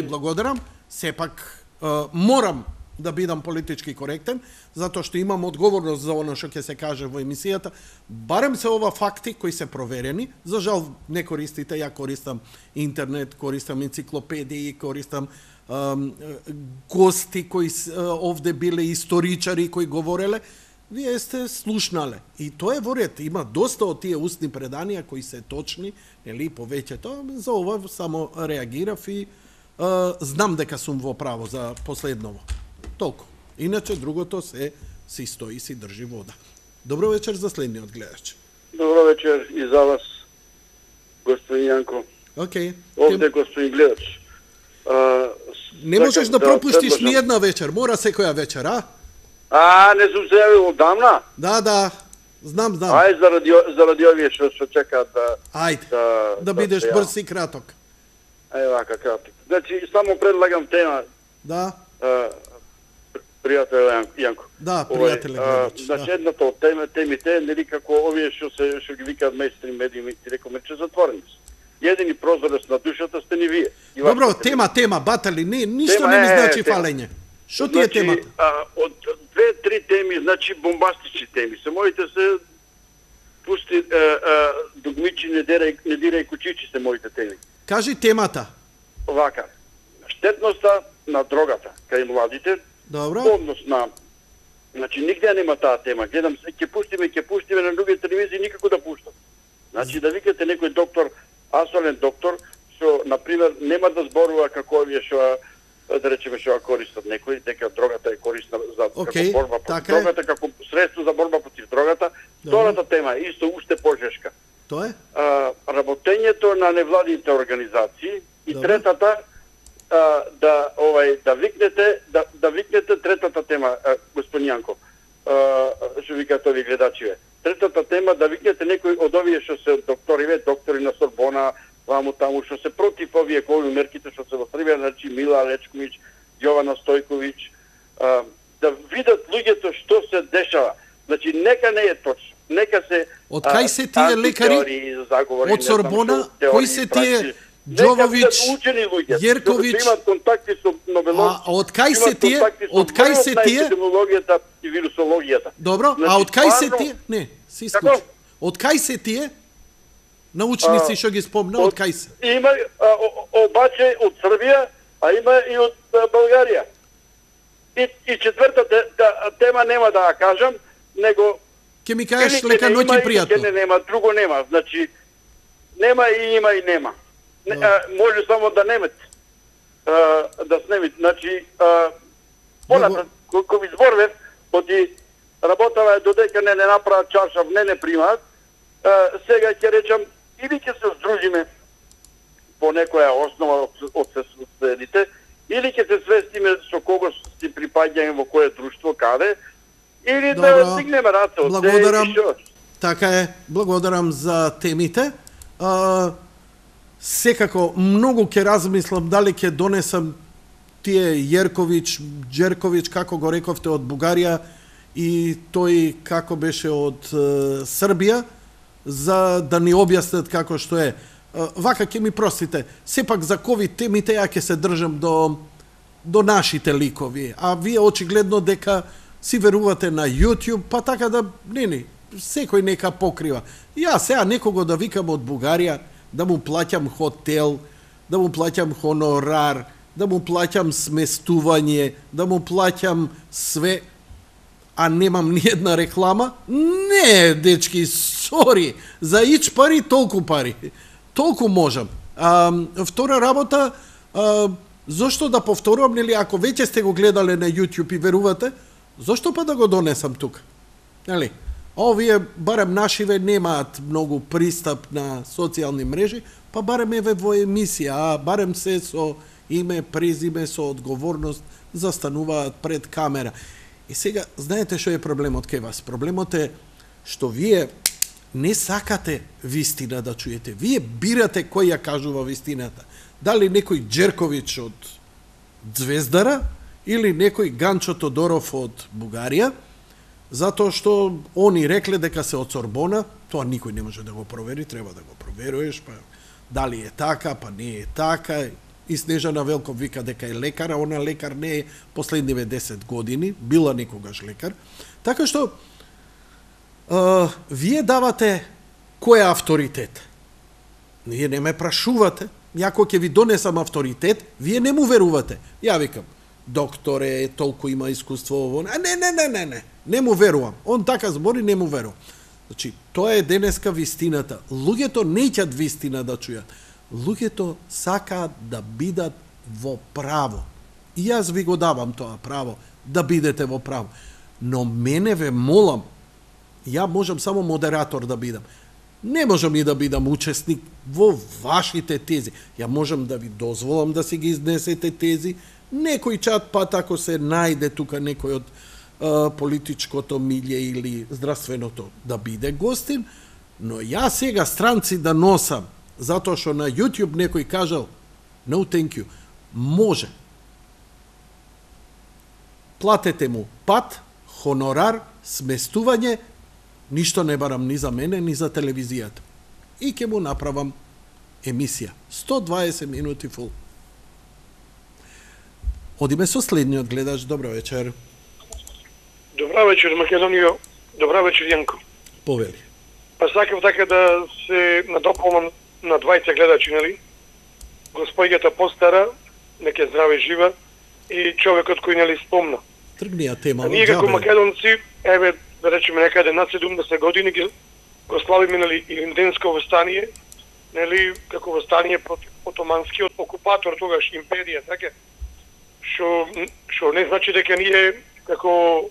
благодарам, сепак морам да бидам политички коректен, затоа што имам одговорност за оно што ќе се каже во емисијата. Барем се ова факти кои се проверени. За жал не користите, ја користам интернет, користам енциклопедии, користам гости кои овде биле историчари кои говореле. Вие сте слушнале. И тоа е во ред. Има доста од тие устни преданија кои се точни, нели, повеќето. За ова само реагирав и знам дека сум во право за последново. Толку. Иначе другото си стои, си држи вода. Добро вечер за следниот гледач.
Добро вечер и за вас, господин Јанко.
Океј.
Овде господин гледач.
Не можеш да пропуштиш ни една вечер, мора секоја вечер, а?
Не сум се јавил одамна?
Да, знам.
Ај, заради овие што чекаат да...
Ајде, да бидеш брз и краток.
Ај, вака, краток. Значи, само предлагам тема.
Да.
Пријател Јанко.
Да, пријателе.
Значи, едната од темите, нели како овие што ги викаат мејнстрим медиуми, ти рекоме, че затворени се. Едини прозорец на душата сте ни вие.
Добро, тема, батали, ништо не ми значи фалење. Што ти е темата?
Од 2-3 теми, значи бомбастични теми. Се моите се пусти дугмичи, не дирај кучичи се моите теми.
Кажи темата.
Вака. Штетноста на дрогата кај младите.
Добро.
Однос на... Значи, нигде нема таа тема. Гледам, ќе пуштиме на други телевизии, никако да пуштат. Значи, да викате некој доктор, асолен доктор, што, например, нема да зборува како овие што, да речеме, што користат некои, дека дрогата е корисна за како борба против дрогата, како средство за борба против дрогата. Втората тема е исто уште пожешка.
Тоа е?
Работењето на невладините организации и третата да викнете третата тема, господин Јанко, што викаат овие гледачиве. Третата тема да викнете некој од овие што се доктори на Сорбона, таму што се против овие ковид мерките што се во Србија, значи Мила Лечковиќ, Јована Стојковиќ, да видат луѓето што се дешава. Значи нека не е точно. Нека се
од кај се тие лекари од Сорбона, кои се тие Џововиќ, Јерковиќ,
имат контакти со Нобеловци.
Од кај се тие?
Епидемиологијата и вирусологијата.
Добро, а од кај се тие? Не, се исклучи. Од кај се тие? Научници што ги спомна, од кај се?
Има обаче од Србија, а има и од Българија. И четвртата тема нема да ја кажам, него
ќе ми кажеш лека ноќ и пријатно.
Не нема, друго нема. Значи нема и има и нема. Може само да немет. Да снемит. Значи поната кога ви зборвев, оди работава додека не направат чаршав, не примаат. Сега ќе речам или ќе се здружиме по некоја основа од соседите, или ќе се свестиме со кого си припаѓаме во кое друштво, каде, или да стигнеме раце од
те и шо. Така е, благодарам за темите. Секако, многу ќе размислам дали ќе донесам тие Јерковиќ, Џерковиќ, како го рековте, од Бугарија и тој како беше од Србија, за да ни објаснат како што е. Вака ќе ми простите, сепак за ковид темите ја ќе се држам до нашите ликови, а вие очигледно дека си верувате на YouTube, па така да, секој нека покрива. Ја сега некого да викам од Бугарија, да му плаќам хотел, да му плаќам хонорар, да му плаќам сместување, да му плаќам све, а немам ни една реклама? Не, дечки, сори, за ич пари, толку пари. Толку можам. Втора работа, зошто да повторувам, нели, ако веќе сте го гледале на YouTube и верувате, зошто па да го донесам тука? Нели? Овие, барем нашиве, немаат многу пристап на социјални мрежи, па барем еве во емисија, а барем се со име, презиме, со одговорност, застануваат пред камера. И сега, знаете што е проблемот кај вас? Проблемот е што вие не сакате вистина да чуете. Вие бирате кој ја кажува вистината. Дали некој Џерковиќ од Звездара или некој Ганчо Тодоров од Бугарија, затоа што они рекле дека се од Сорбона, тоа никој не може да го провери, треба да го проверуваш, па дали е така, па не е така, И Снежана Велков вика дека е лекар, а она лекар не е последниве 10 години, била некогаш лекар. Така што, вие давате кој е авторитет. Вие не ме прашувате. Јако ќе ви донесам авторитет, вие не му верувате. Ја викам, докторе, толку има искуство ово. Не му верувам. Он така збори, не му верувам. Значи, тоа е денеска вистината. Луѓето неќат вистина да чујат. Луѓето сакаат да бидат во право. И јас ви го давам тоа право, да бидете во право. Но мене ве молам, ја можам само модератор да бидам. Не можам и да бидам учесник во вашите тези. Ја можам да ви дозволам да си ги изнесете тези. Некој чат пат ако се најде тука некој од политичкото милје или здравственото да биде гостин, но ја сега странци да носам затоа што на YouTube некој кажал no thank you. Може. Платете му пат, хонорар, сместување, ништо не барам ни за мене, ни за телевизијата. И ќе му направам емисија. 120 минути фул. Одиме со следниот гледач. Добро вечер.
Добра вечер, Македонија. Добра вечер, Јанко.
Повели.
Па сакав така да се надополнам на двајца гледачи, нели? Господјата постара, нека здраве жива, и човекот кој нели спомна.
Тргнија тема.
Ние како македонци, еве, да речеме некаде над 70 години го славиме, нели, Илинденско востание, нели, како востание против отоманскиот окупатор, тогаш империја, така? Што не значи дека ние како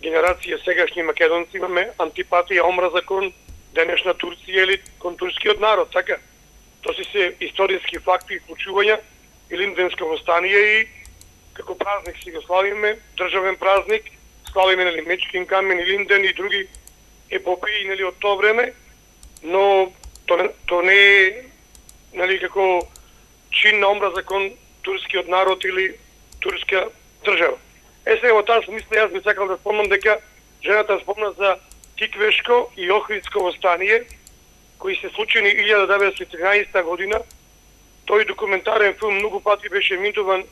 генерација сегашни македонци имаме антипатија, омраза кон денешна Турција или кон турскиот народ, така? Тоа се историски факти и случувања, Илинденско востание и како празник си го славиме, државен празник, славиме, нели, Мечкин камен, Илинден и други епопеи, нели, од тоа време, но то не е, нели, како чин на омраза кон турскиот народ или турска држава. Сега во таа смисла јас би сакал да спомнам дека жената спомна за Тиквешко и Охридско востание, кои се случени 1913 година. Тој документарен филм многу пати беше емитуван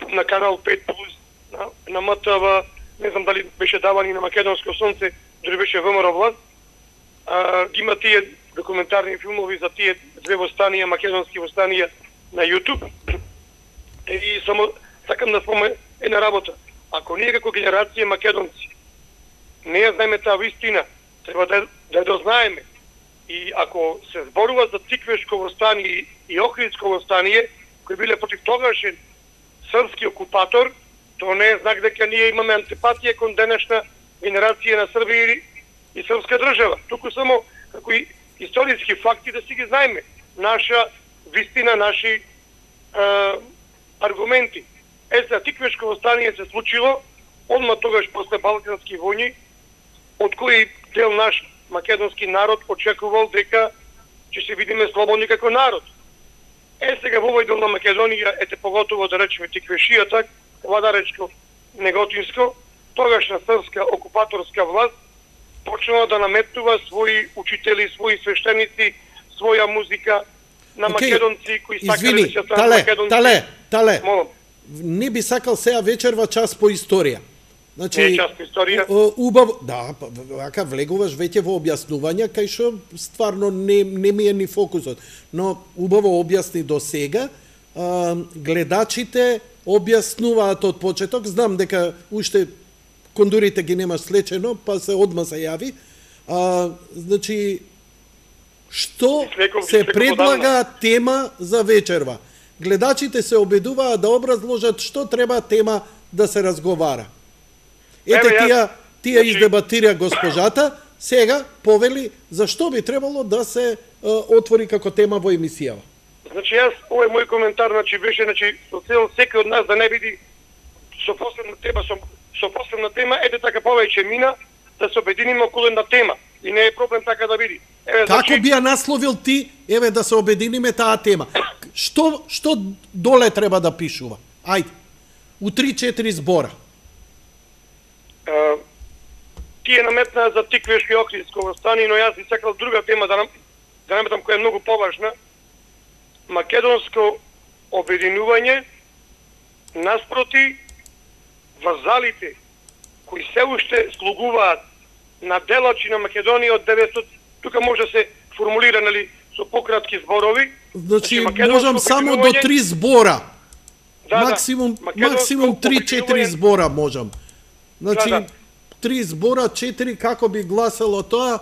на канал 5+, на МТВ, не знам дали беше даван и на Македонско сонце, дори беше ВМРО власт. Ги има тие документарни филмови за тие две востанија, македонски востанија на YouTube. И само сакам да спомнам една работа. Ако ние како генерација македонци не ја знаеме таа вистина, треба да ја дознаеме. И ако се зборува за Тиквешко востание и Охридско востание, кои биле против тогашен српски окупатор, тоа не е знак дека ние имаме антипатија кон денешна генерација на Србија и српска држава. Туку само како и историски факти да си ги знаеме. Наша вистина, наши аргументи. За Тиквешко востание се случило одма тогаш после балкански војни, од кои дел наш македонски народ очекувал дека ќе се видиме слободни како народ. Сега во овој дел на Македонија, поготово да речеме Тиквешијата, Владаречко, Неготинско, тогашна српска окупаторска власт почнала да наметнува своји учители, своји свештеници, своја музика на македонци кои сакале да се станат македонци.
Тале. Не би сакал сега вечерва час по историја. Значи,
не час по историја.
Убаво, да, вака влегуваш веќе во објаснувања, кај што стварно не ми е ни фокусот. Но убаво објасни до сега, гледачите објаснуваат од почеток, знам дека уште кондурите ги немаш слечено, па се одма се јави. Значи, што се предлага тема за вечерва? Гледачите се обидуваат да образложат што треба тема да се разговара. Тие издебатира госпожата, сега повели зашто би требало да се отвори како тема во емисијава.
Значи јас, овој мој коментар, беше, со цел секој од нас да не биде со посебна тема, така повеќе мина, да се обединиме околу една тема. И не е проблем така да биде.
Како би ја насловил ти, да се обединиме таа тема? Што доле треба да пишува? Ајде, у 3-4 збора.
Тие наметнаа за Тиквешко и Охридско востание, но јас би сакал друга тема да наметам која е многу поважна. Македонско обединување наспроти вазалите кои се уште слугуваат на делачи на Македонија од 900. Тука може да се формулира, нели, со пократки зборови.
Значи можам само до 3 збора. Максимум 3-4 збора можам. Значи 3 збора, 4 како би гласало тоа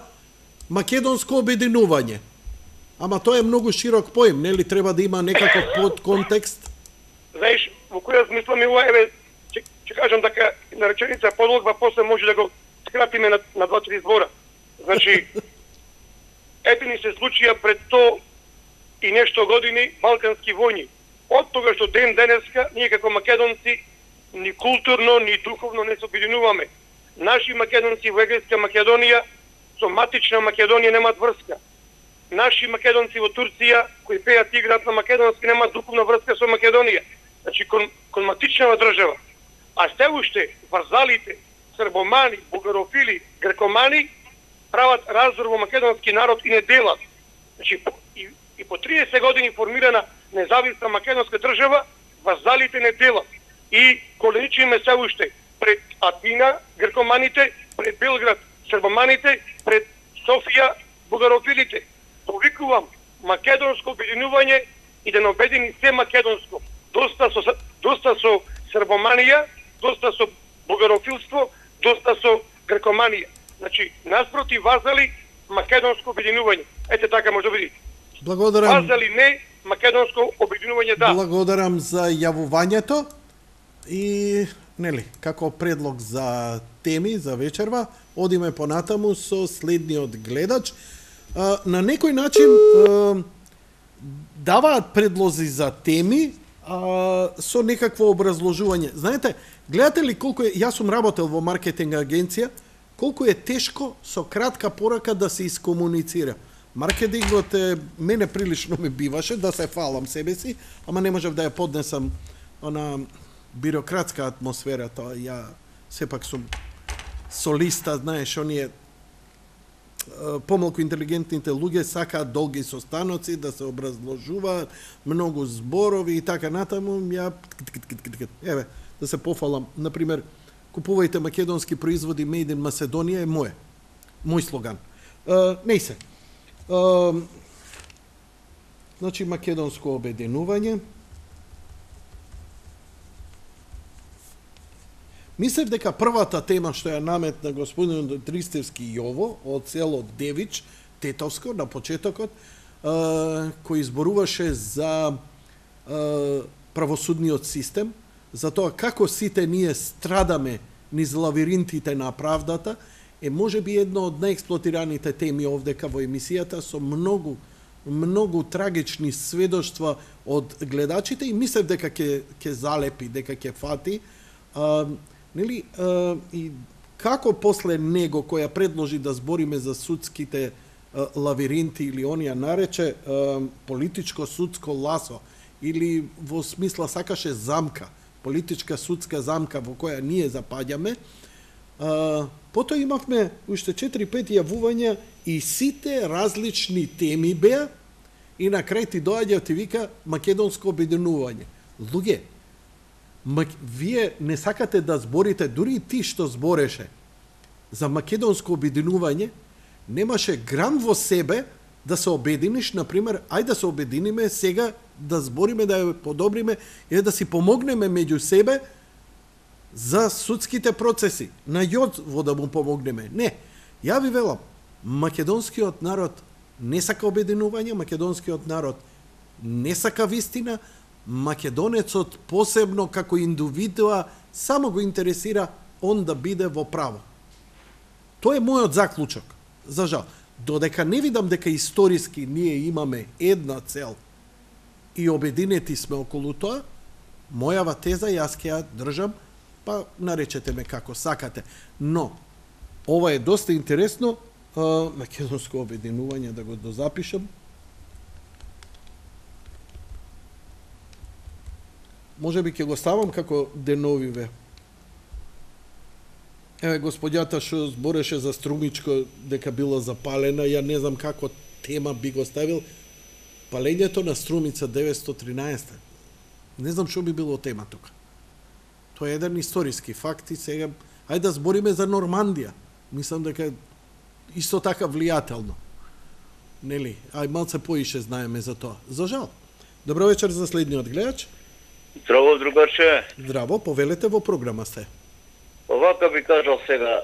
македонско обединување. Ама тоа е многу широк поим, нели треба да има некаков подконтекст?
Знаеш, во која смисла ми еве ќе кажам дека на реченица подлога, после може да го скратиме на 2-3 збора. Значи, ете ни се случија пред 100 и нешто години балкански војни. Од тога што ден денеска ние како македонци ни културно, ни духовно не се обединуваме. Наши македонци во Егејска Македонија со матична Македонија немаат врска. Наши македонци во Турција кои пеат и играат на македонски немаат духовна врска со Македонија. Значи кон матичнава држава. А се уште вазалите, србомани, бугарофили, грекомани прават раздор во македонски народ и не делат. Значи и по 30 години формирана независна македонска држава, вазалите не делат. И коленичиме се уште пред Атина, грекоманите, пред Белград, србоманите, пред Софија, бугарофилите. Повикувам македонско обединување и да не обедини се македонско. Доста со србоманија, доста со бугарофилство, доста со грекоманија. Значи, наспроти вазали македонско обединување. Ете така може да биде.
Благодарам.
Вазали не, македонско обединување да.
Благодарам за јавувањето и нели, како предлог за теми за вечерва, одиме понатаму со следниот гледач. На некој начин даваат предлози за теми со некакво образложување. Знаете, гледате ли колку е, јас сум работел во маркетинг агенција, колку е тешко со кратка порака да се искомуницира. Маркетингот мене прилично ми биваше да се фалам себе си, ама не можев да ја поднесам она бирократска атмосфера, тоа ја сепак сум солиста, знаеш, оние помалку интелигентните луѓе сакаат долги состаноци, да се образложуваат, многу зборови и така натаму, ја еве, да се пофалам, например, купувајте македонски производи Made in Macedоnia е мој слоган. Не се. Значи македонско обединување. Мислев дека првата тема што ја наметна господин Дристевски Јово од село Девич, Тетовско, на почетокот, кој изборуваше за правосудниот систем, за тоа како сите ние страдаме низ лавиринтите на правдата, е можеби едно од најексплотираните теми овдека во емисијата со многу трагични сведоштва од гледачите и мислев дека ќе залепи, дека ќе фати. Нели, и како после него која предложи да збориме за судските лавиринти или онија нарече политичко судско ласо или во смисла сакаше замка, политичка судска замка во која ние запаѓаме, потоа имавме уште 4-5 јавувања и сите различни теми беа и на крај ти доаѓа ти вика македонско обединување. Луѓе, вие не сакате да зборите, дури и ти што збореше за македонско обединување, немаше грам во себе да се обединиш, например, ајде да се обединиме сега да збориме, да ја подобриме и да си помогнеме меѓу себе за судските процеси. На Јоцво да му помогнеме. Не, ја ви велам, македонскиот народ не сака обединување, македонскиот народ не сака вистина, македонецот посебно како индивидуа само го интересира он да биде во право. Тоа е мојот заклучок. За жал, додека не видам дека историски ние имаме една цел и обединети сме околу тоа, мојава теза јас ќе ја држам, па наречете ме како сакате. Но, ова е доста интересно, македонско обединување, да го дозапишам. Може би ќе го ставам како деновиве. Еве, господјата што збореше за Струмичко дека била запалена, ја не знам како тема би го ставил. Палењето на Струмица 913. Не знам што би било тема тука. Тоа е еден историски факт и сега ајде да збориме за Нормандија. Мислам дека исто така влијателно. Нели? Ај малце поише знаеме за тоа. За жал. Добро вечер за следниот гледач.
Здраво, другарче.
Здраво, повелете, во програма сте.
Овака би кажал сега.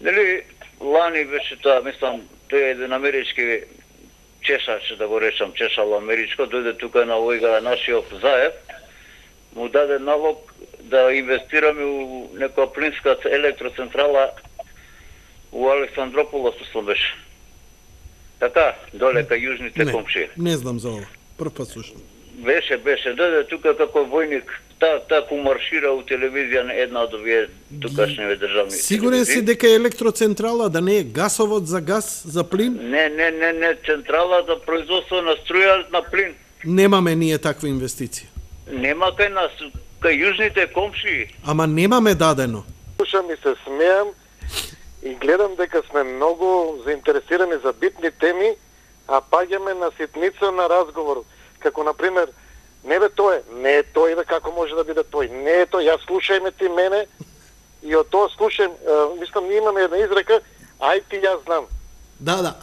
Нели лани беше тоа, мислам, тој е еден амерички чешач, да го речам, чешало америчко, дојде тука на овојга нашиот Заев, му даде налог да инвестираме у некоја плинска електроцентрала у Александрополос, мислам беше. Така, доле кај јужните комшии.
Не знам за ова. Прв пат слушам.
Беше, дојде тука како војник, таку маршира у телевизија на една од овие тукашниве државни.
Сигурен си дека е електроцентрала, да не е гасовод за газ, за плин?
Не, централа за производство на струја на плин.
Немаме ние таква инвестиција.
Нема кај нас, кај јужните комшии.
Ама немаме дадено.
Слушам и се смеам и гледам дека сме многу заинтересирани за битни теми, а паѓаме на ситница на разговор. Како, например, не е тој, како може да биде тој? Не е тој, ја слушајме ти мене и од тоа слушајм, мислам, ние имаме една изрека, ај ти јас знам.
Да,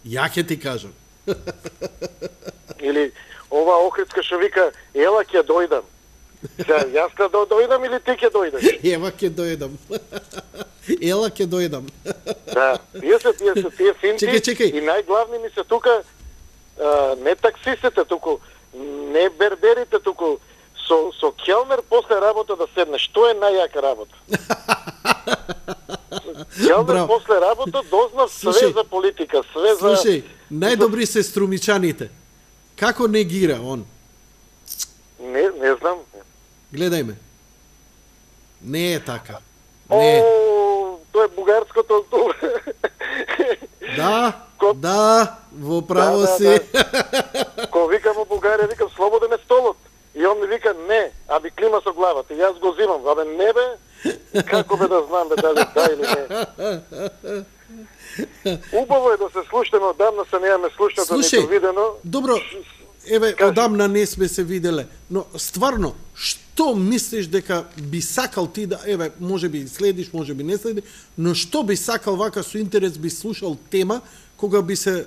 ја ќе ти кажам.
Или ова Охридска што вика, ела ќе дојдам. Јас ќе дојдам или ти ќе дојдеш?
Ева ќе дојдам. Ела ќе дојдам.
Да, тие финти
чекај.
И најглавни ми се тука не таксистите, туку не берберите, туку со келнер после работа да седнеш. Што е најјака работа? Келнер после работа дознав све за политика, све за...
Слушај, најдобри се струмичаните. Како негира он?
Не знам.
Гледајме. Не е така. Не.
Тоа е бугарското...
Да, во право си.
Кога викам у Бугарија, викам слободен е столот. И он ми вика не, а би клима со главата. И јас го зимам. Абе не бе, како бе да знам бе дали да или не. Убаво е да се слушаме, одамна се немаме слушнато нито видено.
Добро, еве, одамна не сме се виделе, но стварно, што мислиш дека би сакал ти да, еве, може би следиш, може би не следиш, но што би сакал вака со интерес би слушал тема кога би се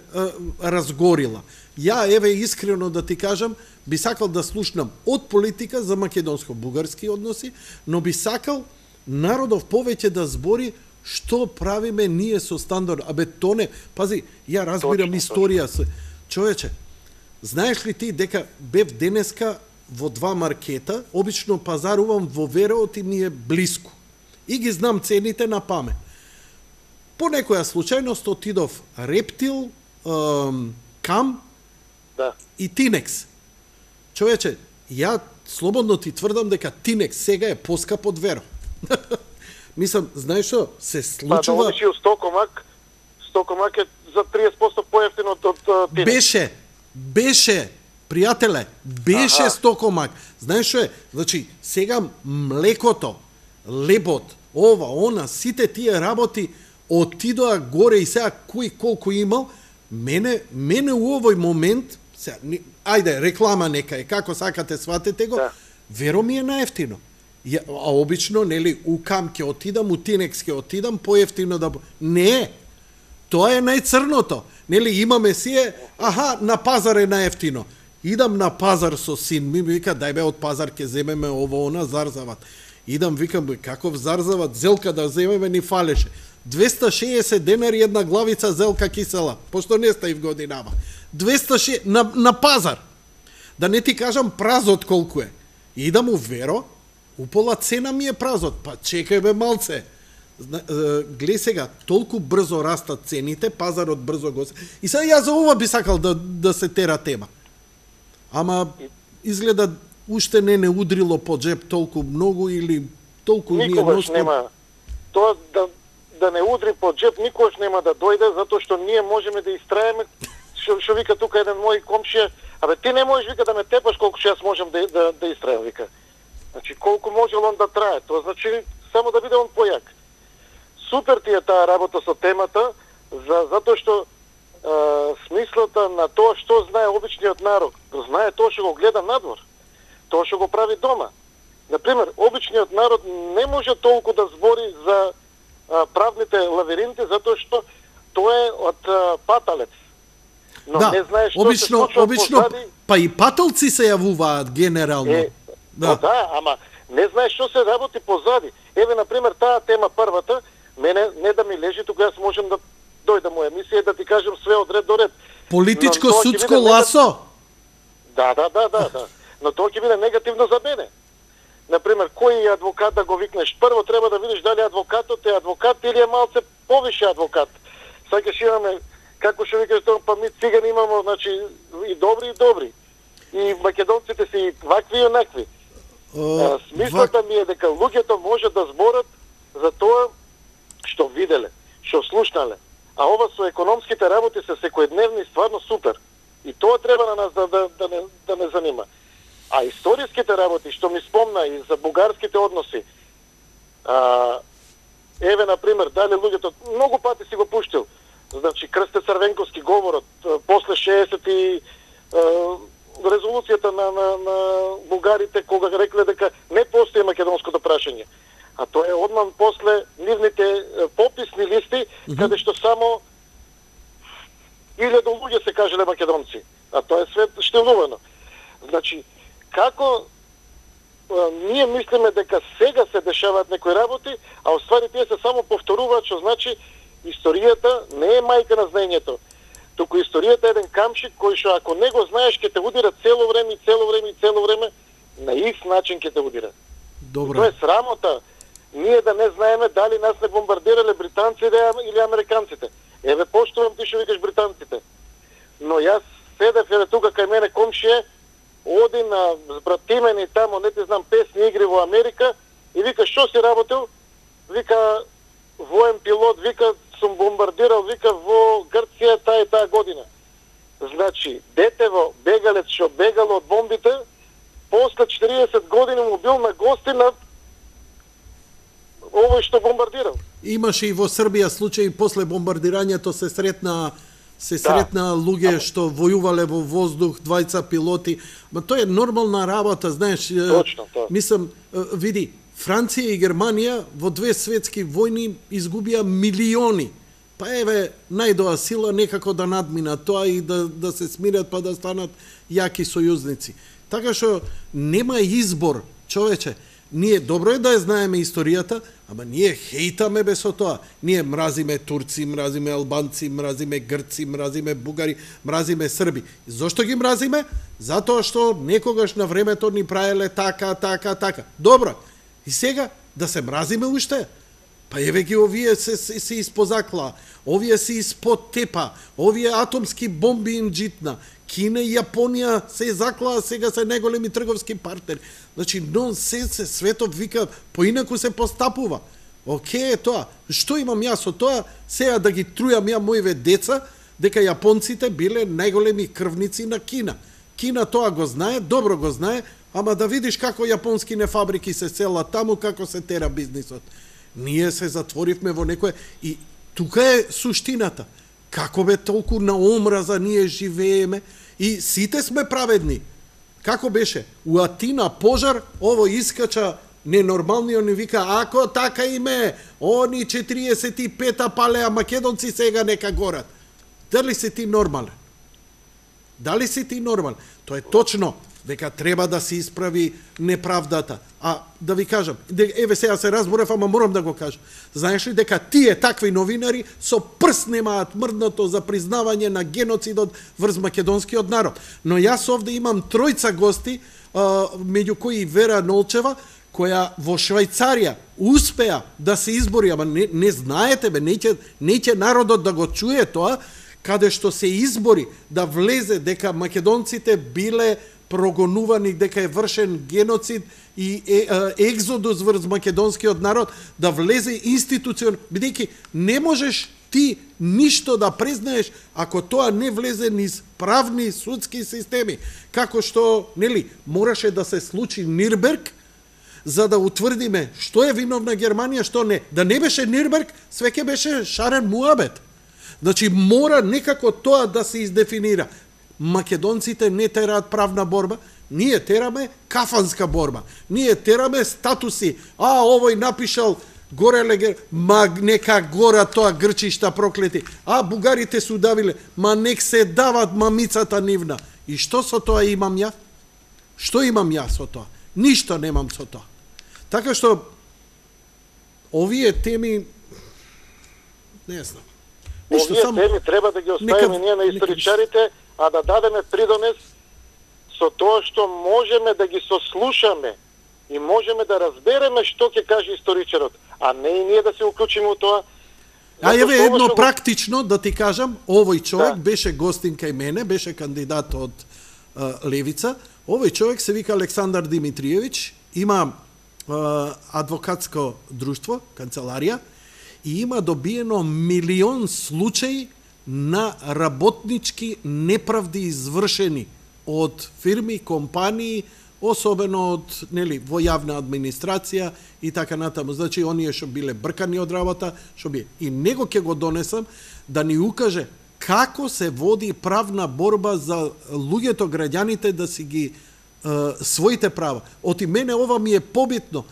разгорила? Ја, еве, искрено да ти кажам, би сакал да слушнам од политика за македонско-бугарски односи, но би сакал народов повеќе да збори што правиме ние со Стандар. Абе, то не... Пази, ја разбирам историја. Човече, знаеш ли ти дека бев денеска во 2 маркета, обично пазарувам во Вереот и ми е блиску. И ги знам цените на памет. По некоја случајност отидов Рептил, Кам и Тинекс. Човече, ја слободно ти тврдам дека Тинекс сега е поскап од Веро. Мислам, знаеш што, се случува...
Па да одиш Стокомак е за 30% поевтин од Тинекс.
Беше, пријателе, беше Стокомак. Знаеш што е? Значи, сега млекото, лебот, ова, она, сите тие работи отидоа горе и сега кој колку имал, мене у овој момент, сега, ајде, реклама нека е, како сакате, сватете го, веро ми е наевтино. А обично, нели, у Кам ќе отидам, у Тинекс ќе отидам, поевтино да... Не, тоа е најцрното. Нели, имаме сие, на пазар е наевтино. Идам на пазар со син, ми вика, дај бе, од пазар ќе земеме ово, она, зарзават. Идам, викам, каков зарзават, зелка да земеме, ни фалеше. 260 денари една главица зелка кисела, пошто не стаив годинава. 260 на пазар. Да не ти кажам празот колку е. Идам у Веро, упола цена ми е празот. Па чекај бе малце. Глеј сега, толку брзо растат цените, пазарот брзо го... И сега ја за ова би сакал да се тера тема. Ама изгледа уште не удрило по джеб толку многу или толку ние
никогаш нема. Тоа да не удри по джеб никогаш нема да дојде, затоа што ние можеме да истраеме, што вика тука еден мој комшија, абе ти не можеш, вика, да ме тепаш колку што јас можам да истраем, вика. Значи колку може он да трае, тоа значи само да биде он појак. Супер ти е таа работа со темата, затоа што смислата на тоа што знае обичниот народ, знае тоа што го гледа надвор. тоа што го прави дома. Например, обичниот народ не може толку да збори за правните лавиринти, затоа што тоа е од паталец. Но
да,
не знаеш што
обично,
се случува позади.
Па и паталци се јавуваат генерално.
Да, ама не знаеш што се работи позади. Еве, например, таа тема првата, мене не да ми лежи, тука јас можам да дојдам у емисија да ти кажам све од ред до ред.
Политичко судско ласо?
Да. Но тоа ќе биде негативно за мене. Например, кој адвокат да го викнеш? Прво треба да видиш дали адвокатот е адвокат или е малце повише адвокат. Сакаш имаме, како што викаш тоа, па ми цигани имамо, значи, и добри. И македонците си вакви и онакви. Смислата ми е дека луѓето може да зборат за тоа што виделе, што слушнале. А ова со економските работи се секојдневни стварно супер. И тоа треба на нас да не занима. А историските работи, што ми спомна и за бугарските односи, еве, например, дали луѓето, многу пати си го пуштил, значи, Крсте Црвенковски говорот, после 60 и резолуцијата на бугарите, кога рекле дека не постои македонското прашање. А тоа е одман после нивните пописни листи, каде што само 1000 луѓе се кажеле македонци. А тоа е свет штилувано. Значи, како ние мислиме дека сега се дешаваат некои работи, а оствари тие се само повторуваат, што значи историјата не е мајка на знаењето. Туку историјата е еден камшик кој што ако не го знаеш ќе те удира цело време, на ист начин ќе те удира.
Добре.
Тоа е срамота. Ние да не знаеме дали нас не бомбардирале британците или американците. Еве, поштувам ти што викаш британците. Но јас седев тука кај мене комшија, оди на збратимени тамо, не ти знам, песни игри во Америка и вика, што си работил? Вика, воен пилот, вика, сум бомбардирал, вика, во Грција таа и таа година. Значи, детево, бегалец што бегало од бомбите, после 40 години му бил на гости на овој што бомбардирал.
Имаше и во Србија случаи после бомбардирањето се сретна луѓе што војувале во воздух, двајца пилоти, ма тоа е нормална работа, знаеш.
Точно, тоа.
Мислам, види, Франција и Германија во 2 светски војни изгубија милиони. Па еве, најдоа сила некако да надмина тоа и да се смират па да станат јаки сојузници. Така што нема избор, човече. Ние добро е да ја знаеме историјата, ама ние хейтаме без тоа. Ние мразиме турци, мразиме албанци, мразиме грци, мразиме бугари, мразиме срби. И зошто ги мразиме? Затоа што некогаш на времето ни правеле така. Добро. И сега да се мразиме уште? Па еве ги овие се испозакла, овие се испод тепа, овие атомски бомби им джитна. Кина и Јапонија се заклаа, сега се најголеми трговски партнери. Значи, нонсенс, светот вика, поинаку се постапува. Океј е тоа. Што имам јас од тоа? Сега да ги трујам ја моиве деца, дека јапонците биле најголеми крвници на Кина. Кина тоа го знае, добро го знае, ама да видиш како јапонските фабрики се селат таму, како се тера бизнисот. Ние се затворивме во некое... И тука е суштината. Како бе толку на омраза ние живееме и сите сме праведни. Како беше? У Атина пожар, ово искача ненормалниот ни вика, ако така име, они 45-та палеа македонци сега нека горат. Дали си ти нормален? Дали си ти нормален? Тоа е точно, дека треба да се исправи неправдата. А да ви кажам, еве сега се разборев, ама морам да го кажам. Знаеш ли дека тие такви новинари со прст немаат мрднато за признавање на геноцидот врз македонскиот народ. Но јас овде имам 3 гости, меѓу кои Вера Нолчева, која во Швајцарија успеа да се избори, ама не знаете бе, неќе народот да го чуе тоа, каде што се избори да влезе дека македонците биле прогонувани, дека е вршен геноцид и екзодус врз македонскиот народ, да влезе институцион, бидејќи не можеш ти ништо да признаеш ако тоа не влезе низ правни судски системи. Како што, нели, мораше да се случи Нирнберг, за да утврдиме што е виновна Германија, што не. Да не беше Нирнберг, све ќе беше шарен муабет. Значи, мора некако тоа да се издефинира. македонците не тераат правна борба, ние тераме кафанска борба. Ние тераме статуси. Овој напишал горе легер, нека гора тоа грчишта проклети. Бугарите су давиле, нек се дават мамицата нивна. И што со тоа имам ја? Што имам ја со тоа? Ништо немам со тоа. Така што овие теми не знам.
Овие теми треба да ги оставиме ние на историчарите, а да дадеме придонес со тоа што можеме да ги сослушаме и можеме да разбереме што ќе каже историчарот, а не и ние да се уклучиме во тоа.
Еве едно практично да ти кажам, овој човек беше гостин кај мене, беше кандидат од Левица. Овој човек се вика Александар Димитриевич, има адвокатско друштво, канцеларија, и има добиено милион случаи на работнички неправди извршени од фирми, компании, особено од во јавна администрација и така натаму. Значи, оние што биле бркани од работа, што би и него ќе го донесам да ни укаже како се води правна борба за луѓето, граѓаните да си ги своите права. Оти мене ова ми е побитно,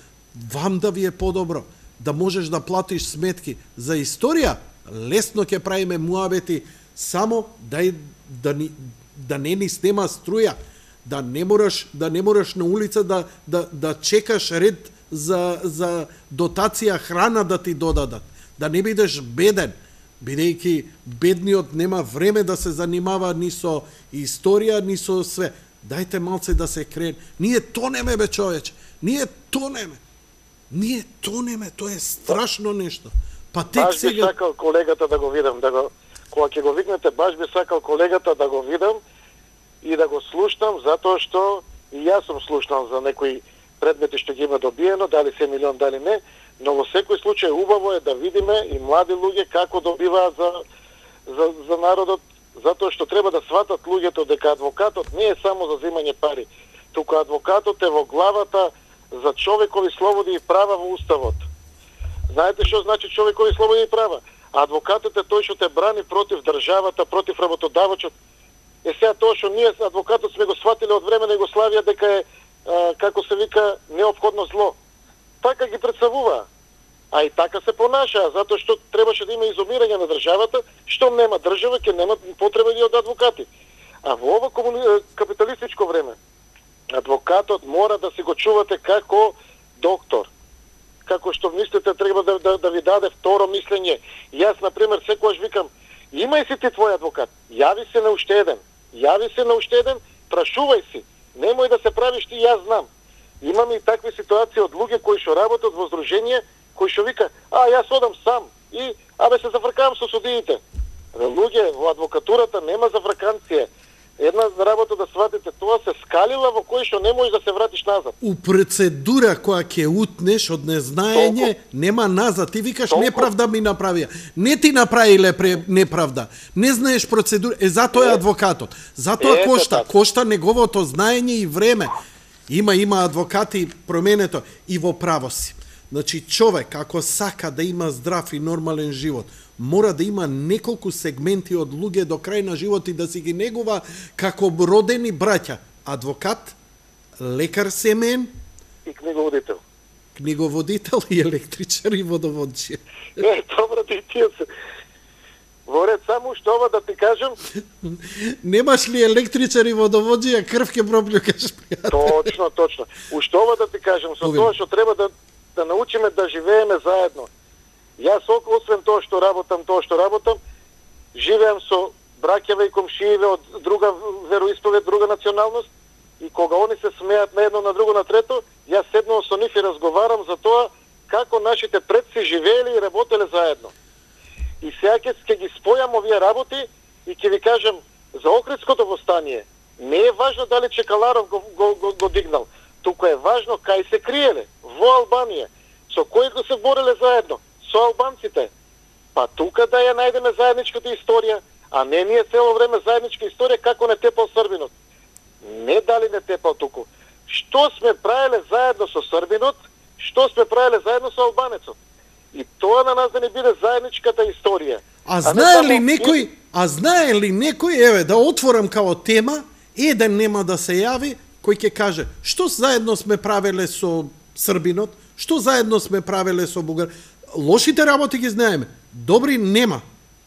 вам да ви е подобро, да можеш да платиш сметки за историја, лесно ќе правиме муабети, само да не ни снема струја, да не мораш на улица да чекаш ред за дотација храна да ти додадат, да не бидеш беден, бидејќи бедниот нема време да се занимава ни со историја, ни со све. Дајте малце да се крен. Ние тонеме, бе, човече. Ние тонеме, тоа е страшно нешто. Па тек
баш
сега...
би сакал колегата да го видам, кога ќе го викнете, баш би сакал колегата да го видам и да го слушнам, затоа што и јас сум слушнал за некои предмети што ги има добиено, дали се милион, дали не, но во секој случај убаво е да видиме и млади луѓе како добиваат за народот, затоа што треба да сватат луѓето дека адвокатот не е само за земање пари, туку адвокатот е во главата за човекови слободи и права во уставот. Знаете што значи човекови слободи и права? Адвокатот е тој што те брани против државата, против работодавачот. Сега тоа што ние адвокатот сме го сватиле од време на Југославија дека е, како се вика, неопходно зло. Така ги представува. А и така се понашаа, затоа што требаше да има изумирање на државата, што нема држава, ќе нема потреба и од адвокати. А во ова капиталистичко време, адвокатот мора да си го чувате како доктор. Како што мислите, треба да ви даде второ мислење. Јас, например, секогаш викам, имај си ти твој адвокат, јави се на уште еден, прашувај си, немој да се правиш ти, јас знам. Имаме и такви ситуации од луѓе кои што работат во здружение, кои што вика, јас одам сам и се зафркавам со судиите. Луѓе, во адвокатурата нема зафрканција. Една работа да сватите, тоа се скалила во кој што не можеш да се вратиш назад.
У процедура која ќе утнеш од незнаење, нема назад. Ти викаш неправда ми направија. Не ти направиле неправда. Не знаеш процедура. Затоа е адвокатот. Затоа кошта неговото знаење и време. Има адвокати променето и во право си. Значи, човек, ако сака да има здрав и нормален живот, мора да има неколку сегменти од луѓе до крај на живот и да си ги негува како родени браќа. Адвокат, лекар семен
и книговодител.
Книговодител и електричар и водоводче.
Добро, ти тие се. Во ред, само што ова да ти кажам...
Немаш ли електричар и водовоđија, крв ке проплюкаш, пријател?
Точно. Уште ова да ти кажам, со тоа што треба да научиме да живееме заедно. Јас, освен тоа што работам, живеам со браќаве и комшиеве од друга вероисповед, друга националност, и кога они се смеат на едно, на друго, на трето, јас седнувам со нив и разговарам за тоа како нашите предци живееле и работеле заедно. И сега ќе ги спојам овие работи и ќе ви кажам за Охридското востание. Не е важно дали Чекаларов го дигнал, туку е важно кај се криеле, во Албанија. Со кои го се бореле заедно? Со албанците. Па тука да ја најдеме заедничката историја, а не ние цело време заедничка историја како не тепал србинот. Не дали не тепал туку. Што сме правеле заедно со србинот, што сме правеле заедно со албанецот. И тоа на нас да не биде заедничката историја,
А знае ли некој, еве, да отворам као тема, еден нема да се јави, кој ќе каже, што заедно сме правеле со Србинот, што заедно сме правеле со Бугар. Лошите работи ги знаеме, добри нема.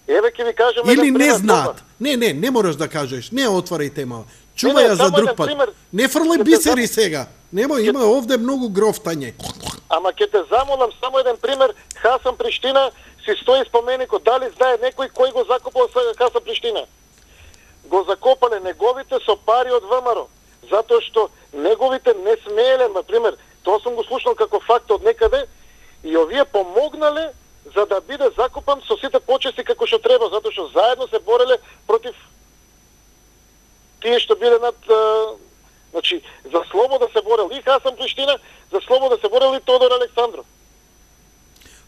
Еве ќе ви кажам
или не знаат. Не мораш да кажеш, не отварај тема. Чувај ја за друг пат. Не фрлај бисери сега. Има овде многу грофтање.
Ама ќе те замолам само еден пример, Хасан Приштина си стои споменикот, дали знае некој кој го закопал Хасан Приштина? Го закопале неговите со пари од ВМРО, затоа што неговите не смееле, например, тоа сум го слушнал како факт од некаде, и овие помогнале за да биде закопан со сите почести како што треба, затоа што заедно се бореле против тие што биле над... Значи, за слобода се борел и Хасан Приштина, за слобода се борел и Тодор Александров.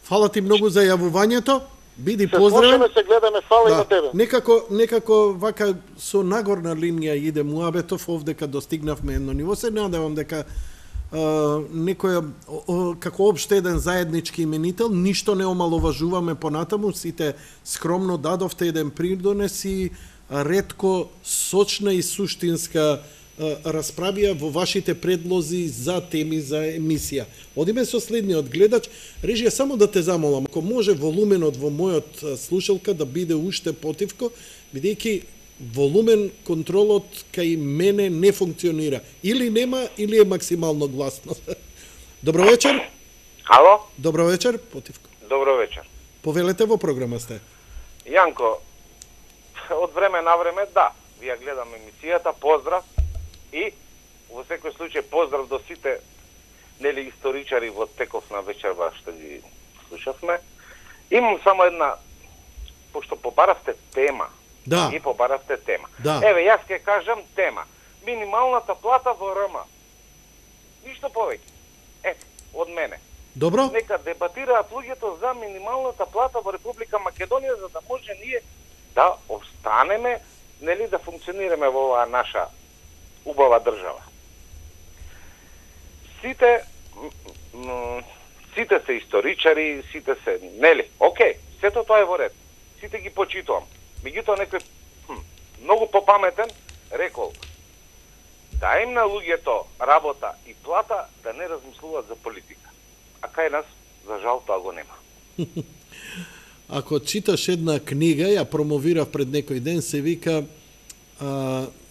Фала ти многу за јавувањето. Биди поздравен.
Се гледаме, фала и на тебе.
Некако вака со нагорна линија иде муабетов, овде кога достигнавме едно ниво, се надевам дека некоја како опште еден заеднички именител, ништо не омаловажуваме понатаму, сите скромно дадовте еден придонес и ретко сочна и суштинска расправија во вашите предлози за теми за емисија. Одиме со следниот гледач. Режија, само да те замолам, ако може волуменот во мојот слушалка да биде уште потивко, бидејќи волумен контролот кај мене не функционира. Или нема, или е максимално гласно. Добро вечер.
Ало?
Добро вечер, потивко.
Добро вечер.
Повелете, во програма сте.
Јанко, од време на време, да, вија гледам емисијата, поздрав, и во секој случај поздрав до сите нели историчари во теков на вечерва што ги слушавме. Имам само една, пошто побаравте тема.
Да.
И побаравте тема.
Да.
Еве, јас ќе кажам тема. Минималната плата во РМ. Ништо повеќе. Од мене.
Добро.
Нека дебатираат луѓето за минималната плата во Република Македонија, за да може ние да останеме, нели, да функционираме во оваа наша убава држава. Сите се историчари, сите се, нели, окей, сето тоа е во ред. Сите ги почитувам. Меѓутоа некој многу попаметен рекол: дај им на луѓето работа и плата да не размислуваат за политика. А кај нас, за жал, тоа го нема.
Ако читаш една книга, ја промовирав пред некој ден, се вика,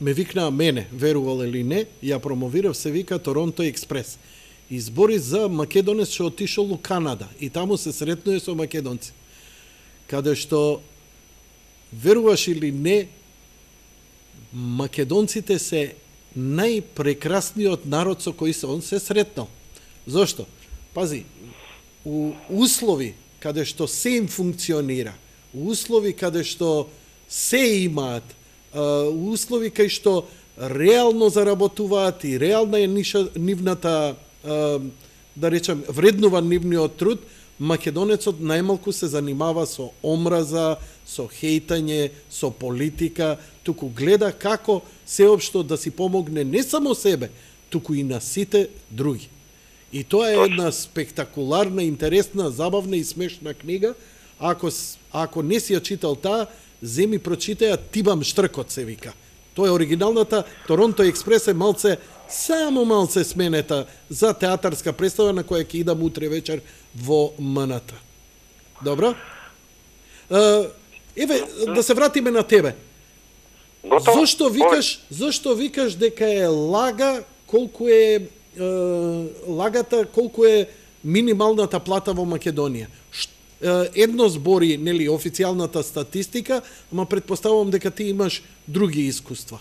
ме викнаа мене, верувал или не, ја промовирав, се вика Торонто Експрес. Избори за македонец што отишол у Канада и таму се сретнуе со македонци. Каде што, веруваш или не, македонците се најпрекрасниот народ со кој се он се сретнал. Зошто? Пази, у услови каде што се им функционира, у услови каде што се имаат, у услови кај што реално заработуваат и реална е нивната, да речем, вреднува нивниот труд, македонецот најмалку се занимава со омраза, со хейтање, со политика, туку гледа како сеопшто да си помогне не само себе, туку и на сите други. И тоа е една спектакуларна, интересна, забавна и смешна книга. Ако не си ја читал таа, земи прочитаја, Тибам Штркот се вика. Тоа е оригиналната. Торонто Експрес е само малце сменета за театарска представа на која ќе идам утре вечер во МНТ. Добро? Еве, да се вратиме на тебе. Зошто викаш дека е лага колку е колку е минималната плата во Македонија? Едно збори, нели, официјалната статистика, ама предпоставувам дека ти имаш други искуства.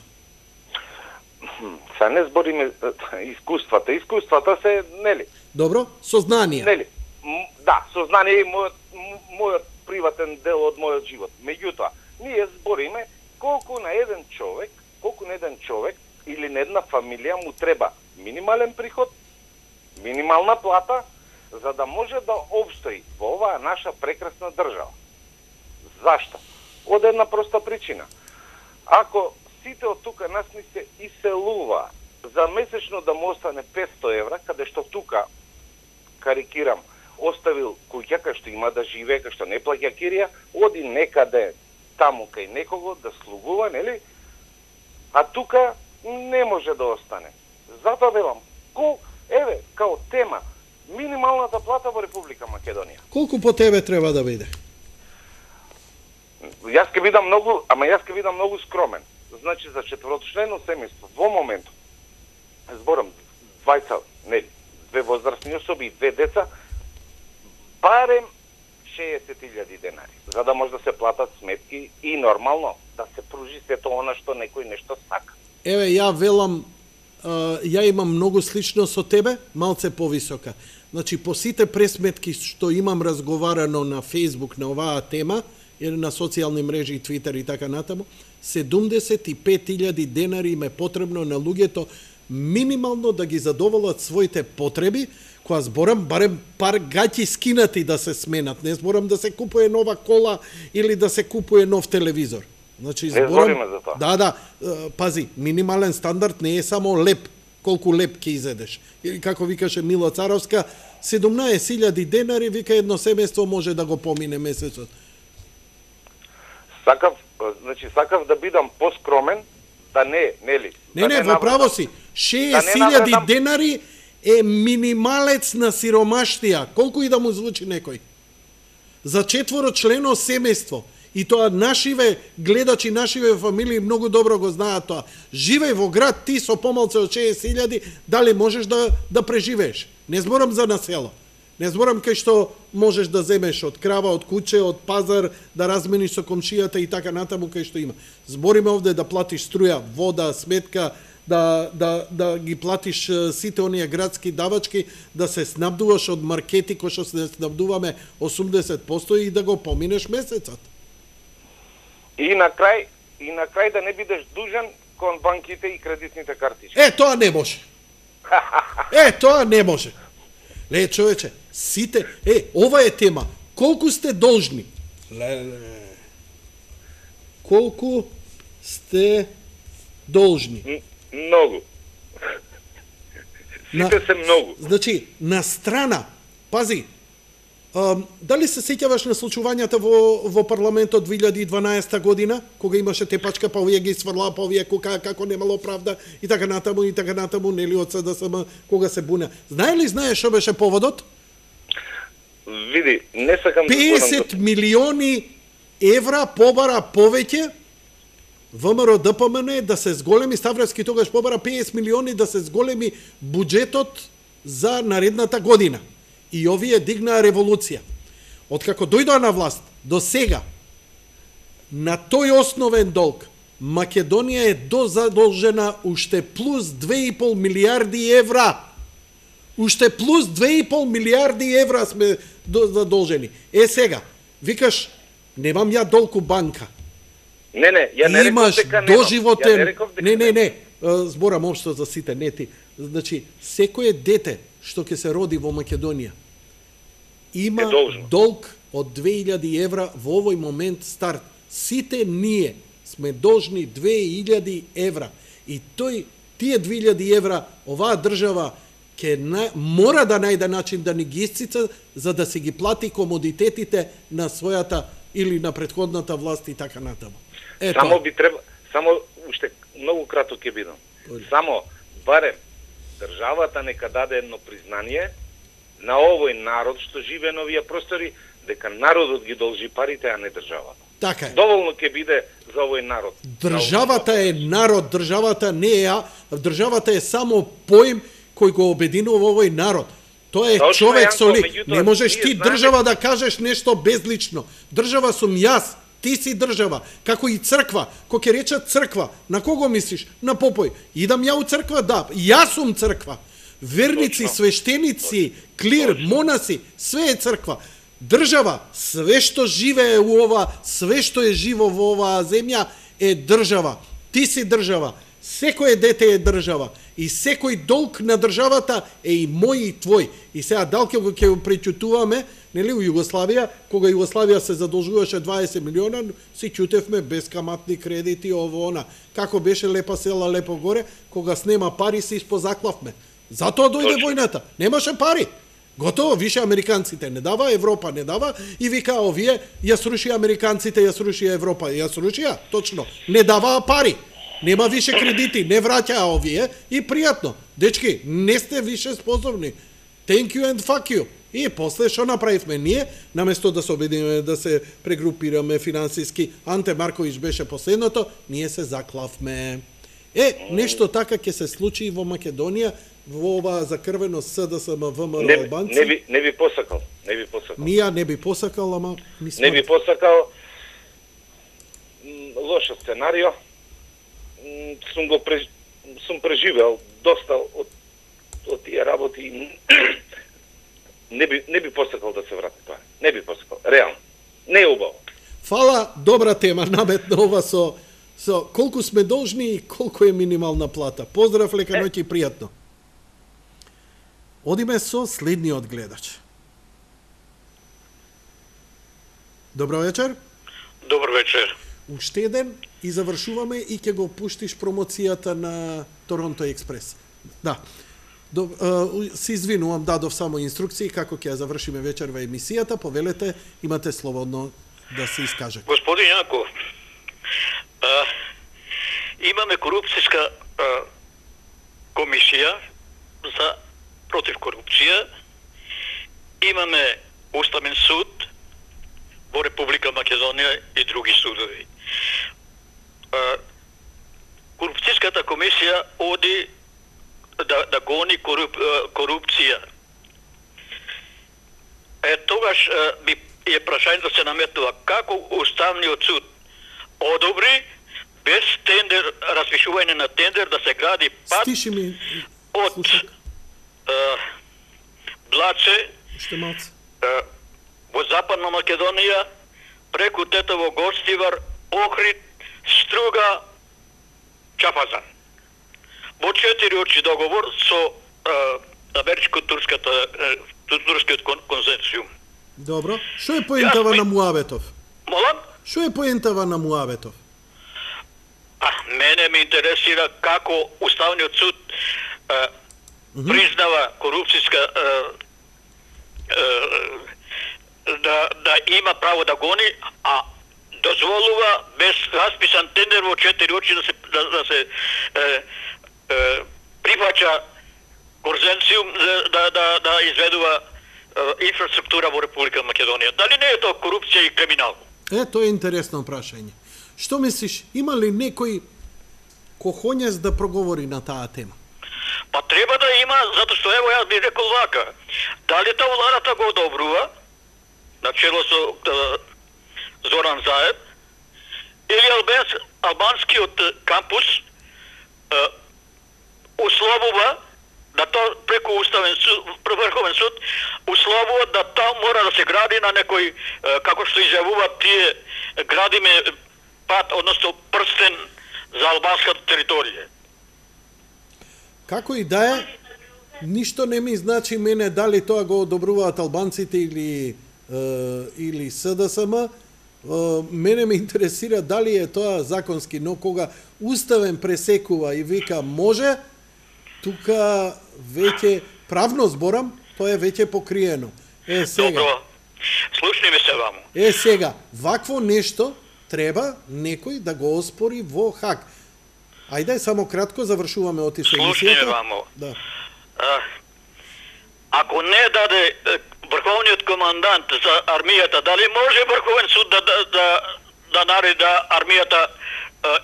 Са не збориме искуствата. Искуствата се, нели?
Добро, сознание.
Нели? Да, сознание е мојот приватен дел од мојот живот. Меѓутоа, ние збориме колку на еден човек или на една фамилија му треба минимален приход, минимална плата, за да може да обстои во оваа наша прекрасна држава. Зашто? Од една проста причина. Ако сите од тука нас ни се иселува за месечно да му остане 500 евра, каде што тука, карикирам, оставил куќа кај што има да живее, кај што не плаќа кирија, оди некаде таму кај некого да слугува, нели? А тука не може да остане. Затоа велам, еве, као тема, минималната плата во Република Македонија.
Колку по тебе треба да биде?
Јас ќе бидам многу скромен. Значи за четворочлено семејство во моментот зборам две возрастни особи и две деца, барем 60.000 денари, за да може да се платат сметки и нормално да се пружи сето она што некој нешто сака.
Еве, ја велам, ја имам многу слично со тебе, малце повисока. Значи, по сите пресметки што имам разговарано на Facebook на оваа тема, или на социјални мрежи, Твитер и така натаму, 75.000 денари им е потребно на луѓето минимално да ги задоволат своите потреби, која зборам барем пар гаќи скинати да се сменат, не зборам да се купува нова кола или да се купува нов телевизор. Значи зборам
за тоа.
Да, пази, минимален стандард не е само леп, колку леп ќе изедеш. Или како викаше Мила Царовска, 17.000 денари, вика едно семејство може да го помине месецот.
Сакав да бидам поскромен, да не, нели?
Не, во право си. 60.000 денари е минималец на сиромаштија. Колку и да му звучи некој. За четворочлено семејство. И тоа нашиве гледачи, нашиве фамилии многу добро го знаат тоа. Живеј во град, ти со помалце од 60.000, дали можеш да преживееш? Не зборам за насело. Не зборам кај што можеш да земеш од крава, од куче, од пазар, да размениш со комшијата и така натаму кај што има. Збориме овде да платиш струја, вода, сметка, да ги платиш сите оние градски давачки, да се снабдуваш од маркети кои што се снабдуваме 80% и да го поминеш месецот.
И на крај да не бидеш дужен кон банките и кредитните картички.
Тоа не може. Тоа не може. Не, човече, сите, ова е тема. Колку сте должни? Колку сте должни?
Многу. Сите се многу.
Значи, на страна, пази, дали се сеќаваш на случувањата во парламентот 2012 година, кога имаше тепачка, па овие ги сврла, па овие како немало правда и така натаму, нели од СДСМ, кога се буна. Знаеш што беше поводот?
Види, не сакам
50 милиони евра побара повеќе ВМРО ДПМН да се зголеми, Ставровски тогаш побара 50 милиони да се зголеми буџетот за наредната година. И овие дигнаа револуција. Откако дојдоа на власт, до сега, на тој основен долг, Македонија е дозадолжена уште плюс 2,5 милиарди евра. Уште плюс 2,5 милиарди евра сме задолжени. Сега, викаш, немам ја долг у банка.
Не, ја не реков дека немам.
Доживотен... Не, зборам општо за сите, не ти. Значи, секое дете што ќе се роди во Македонија има долг од 2000 евра во овој момент старт. Сите ние сме должни 2000 евра. И тие 2000 евра оваа држава мора да најде начин да ни ги исцица за да се ги плати комодитетите на својата или на претходната власт и така натаму.
Само уште многу кратко ќе бидам. Само барем државата нека даде едно признание на овој народ што живее на овие простори, дека народот ги должи парите, а не државата.
Така е.
Доволно ќе биде за овој народ.
Државата е народ, државата не е државата е само поим кој го обединува овој народ. Тоа е човек со лик. Не можеш ти држава да кажеш нешто безлично. Држава сум јас. Ти си држава, како и црква. Ко ќе речат црква, на кого мислиш? На Попој. Идам ја у црква, да, јас сум црква. Верници, свештеници, клир, монаси, све е црква. Држава, све што живее у ова, све што е живо во оваа земја е држава. Ти си држава. Секој дете е држава. И секој долг на државата е и мој и твој. И сега далке го ќе пречутуваме, нели, у Југославија, кога Југославија се задолжуваше 20 милиона, си чутевме бескаматни кредити, ово она. Како беше лепа села, лепо горе, кога снема пари се испозаклавме. Затоа дојде војната. Немаше пари. Готово, више американците не дава, Европа не дава и вика овие ја срушија американците, ја срушија Европа, ја срушија, точно. Не даваа пари. Нема више кредити, не враќаа овие и пријатно. Дечки, не сте више способни. Thank you and fuck you. И после што направивме ние, наместо да се обединиме, да се прегрупираме финансиски, Анте Марковиќ беше последното, ние се заклавме. Нешто така ќе се случи и во Македонија, во ова закрвено СДСМ ВМРО албанци.
Не би посакал.
Ние не би посакал, ама
не би посакал. Лош сценарио. Сум преживел доста од тие работи. Не би посакал да се врати тоа. Не би посакал, реално. Не е убаво.
Фала, добра тема, наметна ова со колку сме должни и колку е минимална плата. Поздрав, лека ноќ и пријатно. Одиме со следниот гледач. Добро вечер.
Добро вечер.
Уште еден и завршуваме и ќе го пуштиш промоцијата на Торонто Експрес. Да. Се извинувам, дадов само инструкции како ќе ја завршиме вечерва емисијата. Повелете, имате слободно да се искажете.
Господин Јанков, имаме корупцијска комисија за против корупција, имаме Уставен суд во Република Македонија и други судови. Корупцијската комисија оди да гони корупција. Тогаш би е прашање да се наметнува како Уставниот суд одобри без тендер, распишување на тендер да се гради пат од Блаче во Западна Македонија преку Тетово, Гостивар, Охрид, Струга, Чапазан. Во 4 очи договор со америчко-турскиот конзорциум.
Добро. Што е поентава на Муабетов?
Молам?
Што е поентава на Муабетов?
Мене ме интересира како Уставниот суд признава корупцијска да има право да гони, а дозволува без расписан тендер во 4 очи да се прифаќа конзорциум да изведува инфраструктура во Република Македонија. Дали не е тоа корупција и криминал?
Тоа е интересно прашање. Што мислиш, има ли некој кохоњес да проговори на таа тема?
Па треба да има, затоа што ево јас би рекол вака. Дали та владата го одобрува на чело со Зоран Заев или албанскиот кампус условува да тоа преку Уставен суд, Врховен суд условува да тоа мора да се гради на некој, како што изјавуваат тие, градиме пат, односно прстен за албанската територија.
Како и да е, ништо не ми значи мене дали тоа го одобруваат албанците или СДСМ. Мене ме интересира дали е тоа законски, но кога Уставен пресекува и вика може, тука веќе правно зборам, тоа е веќе покриено. Сега.
Добро. Слушни ме се ваму.
Сега, вакво нешто треба некој да го оспори во Хаг. Ајде, само кратко завршуваме отише емисијата.
Слушни ме ваму.
Да.
Ако не даде Врховниот командант за армијата, дали може Врховен суд да нареди да армијата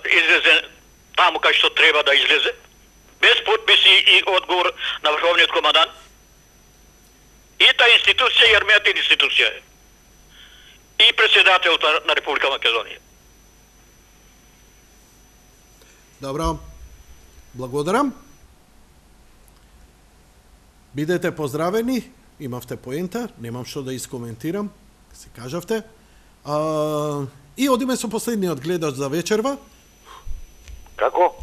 излезе таму кај што треба да излезе? Без подписи и одговор на Врховниот командант? И та институција и армијата институција е. И председателот на Република Македонија.
Добро. Благодарам. Бидете поздравени. Имавте поента, немам што да искоментирам, се кажавте. И одиме со последниот гледач за вечерва.
Како?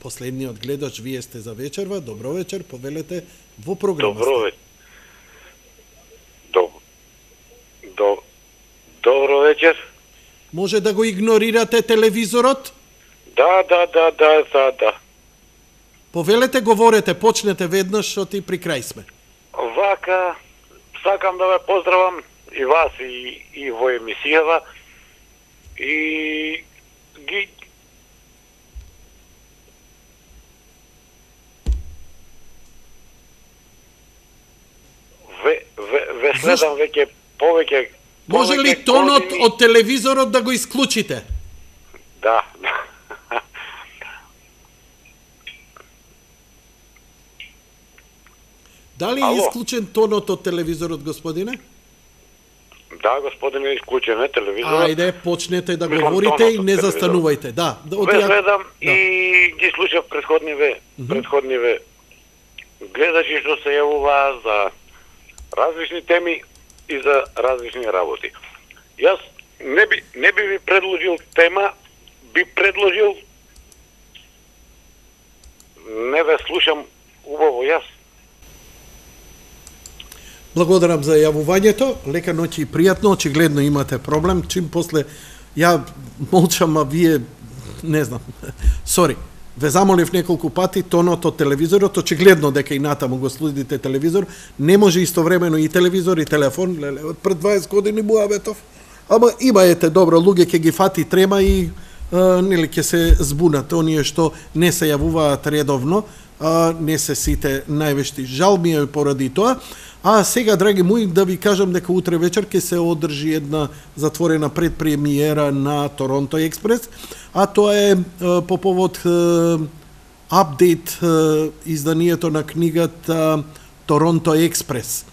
Последниот гледач, вие сте за вечерва. Добро вечер, повелете во програмата.
Добро вечер. Добро вечер.
Може да го игнорирате телевизорот?
Да.
Повелете, говорете, почнете веднаш, што ти при крај сме.
Вака,
сакам да ве поздравам и вас и во емисијава и ги ве следам веќе повеќе.
Може ли тонот од телевизорот да го исклучите?
Да.
Дали е исклучен тонот од телевизорот, господине?
Да, господине, исклучен е телевизорот.
Ајде, почнете да говорите и не застанувајте. Да,
ве гледам и ги слушав предходниве гледачи што се јавуваа за различни теми и за различни работи. Јас не би ви предложил тема, би предложил не ве слушам убаво јас.
Благодарам за јавувањето. Лека ноќ и пријатно. Очигледно имате проблем. Чим после ја молчам, а вие не знам. Сори. Ве замолив неколку пати тонот од телевизорот, очигледно дека и натаму го следите телевизор, не може истовремено и телевизор и телефон, леле, од пред 20 години муабетов. Ама имаете добро, луѓе ќе ги фати трема и нели ќе се збунат, оние што не се јавуваат редовно, не се сите највешти. Жал ми е поради тоа. А сега, драги мои, да ви кажам дека утре вечер ќе се одржи една затворена предпремиера на Торонто Експрес, а тоа е по повод апдейт изданието на книгата Торонто Експрес,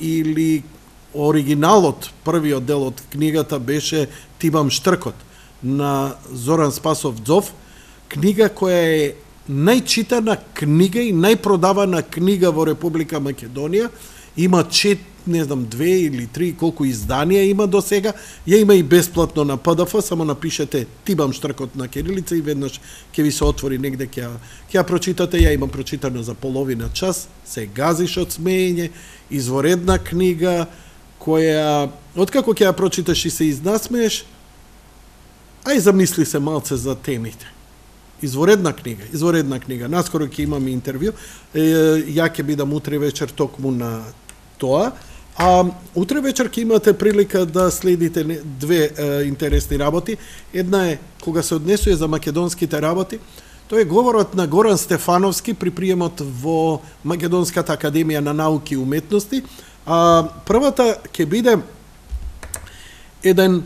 или оригиналот, првиот дел од книгата беше Тибам Штркот на Зоран Спасов Дзов, книга која е најчитана книга и најпродавана книга во Република Македонија. Има не знам, 2 или 3, колку изданија има до сега. Ја има и бесплатно на PDF, само напишете Тибам Штркот на кирилица и веднаш ќе ви се отвори негде, ќе ја прочитате. Ја имам прочитано за половина час, се газиш од смеење, изворедна книга, која, откако ќе ја прочиташ и се изнасмееш, ај замисли се малце за темите. Изворедна книга. Наскоро ќе имаме интервју. Ја ќе бидам утре вечер токму на тоа. А утре вечер ќе имате прилика да следите две интересни работи. Една е кога се однесува за македонските работи. Тоа е говорот на Горан Стефановски при приемот во Македонската академија на науки и уметности. А првата ќе биде еден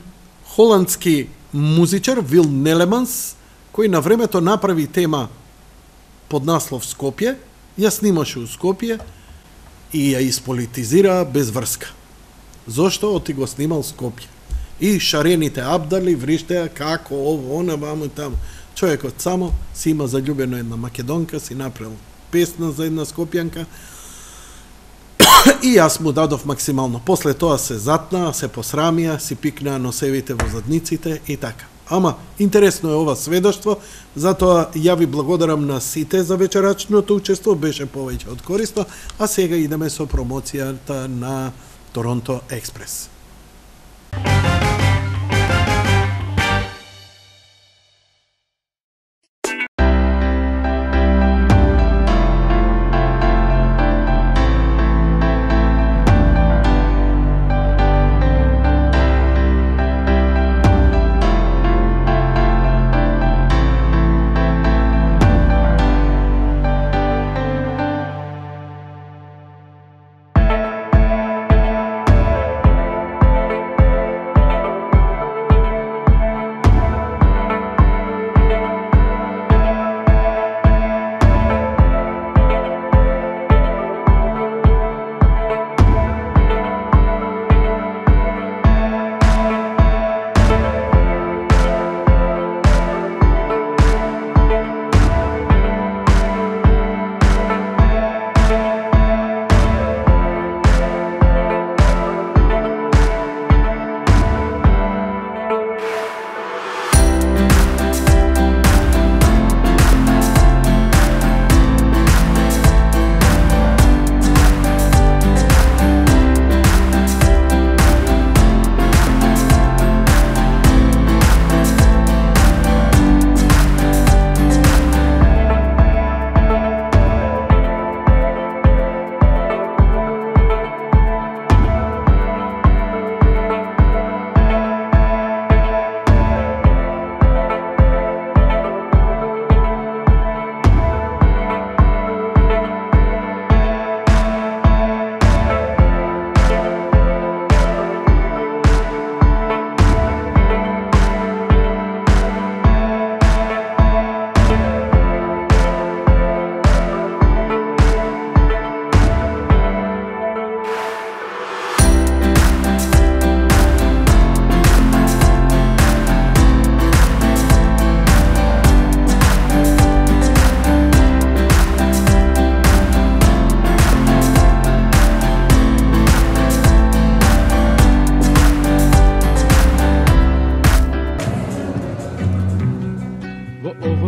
холандски музичар, Вил Нелеманс, кој на времето направи тема под наслов Скопје, ја снимаше у Скопје и ја исполитизира без врска. Зошто? Оти го снимал Скопје. И шарените абдали вриштеа како ово, она, ваму и таму. Човекот само си има заљубено една македонка, си направил песна за една скопјанка и јас му дадов максимално. После тоа се затнаа, се посрамија, си пикнаа носевите во задниците и така. Ама, интересно е ова сведоштво, затоа ја ви благодарам на сите за вечерачното учество, беше повеќе од корисно, а сега идеме со промоцијата на Торонто Експрес.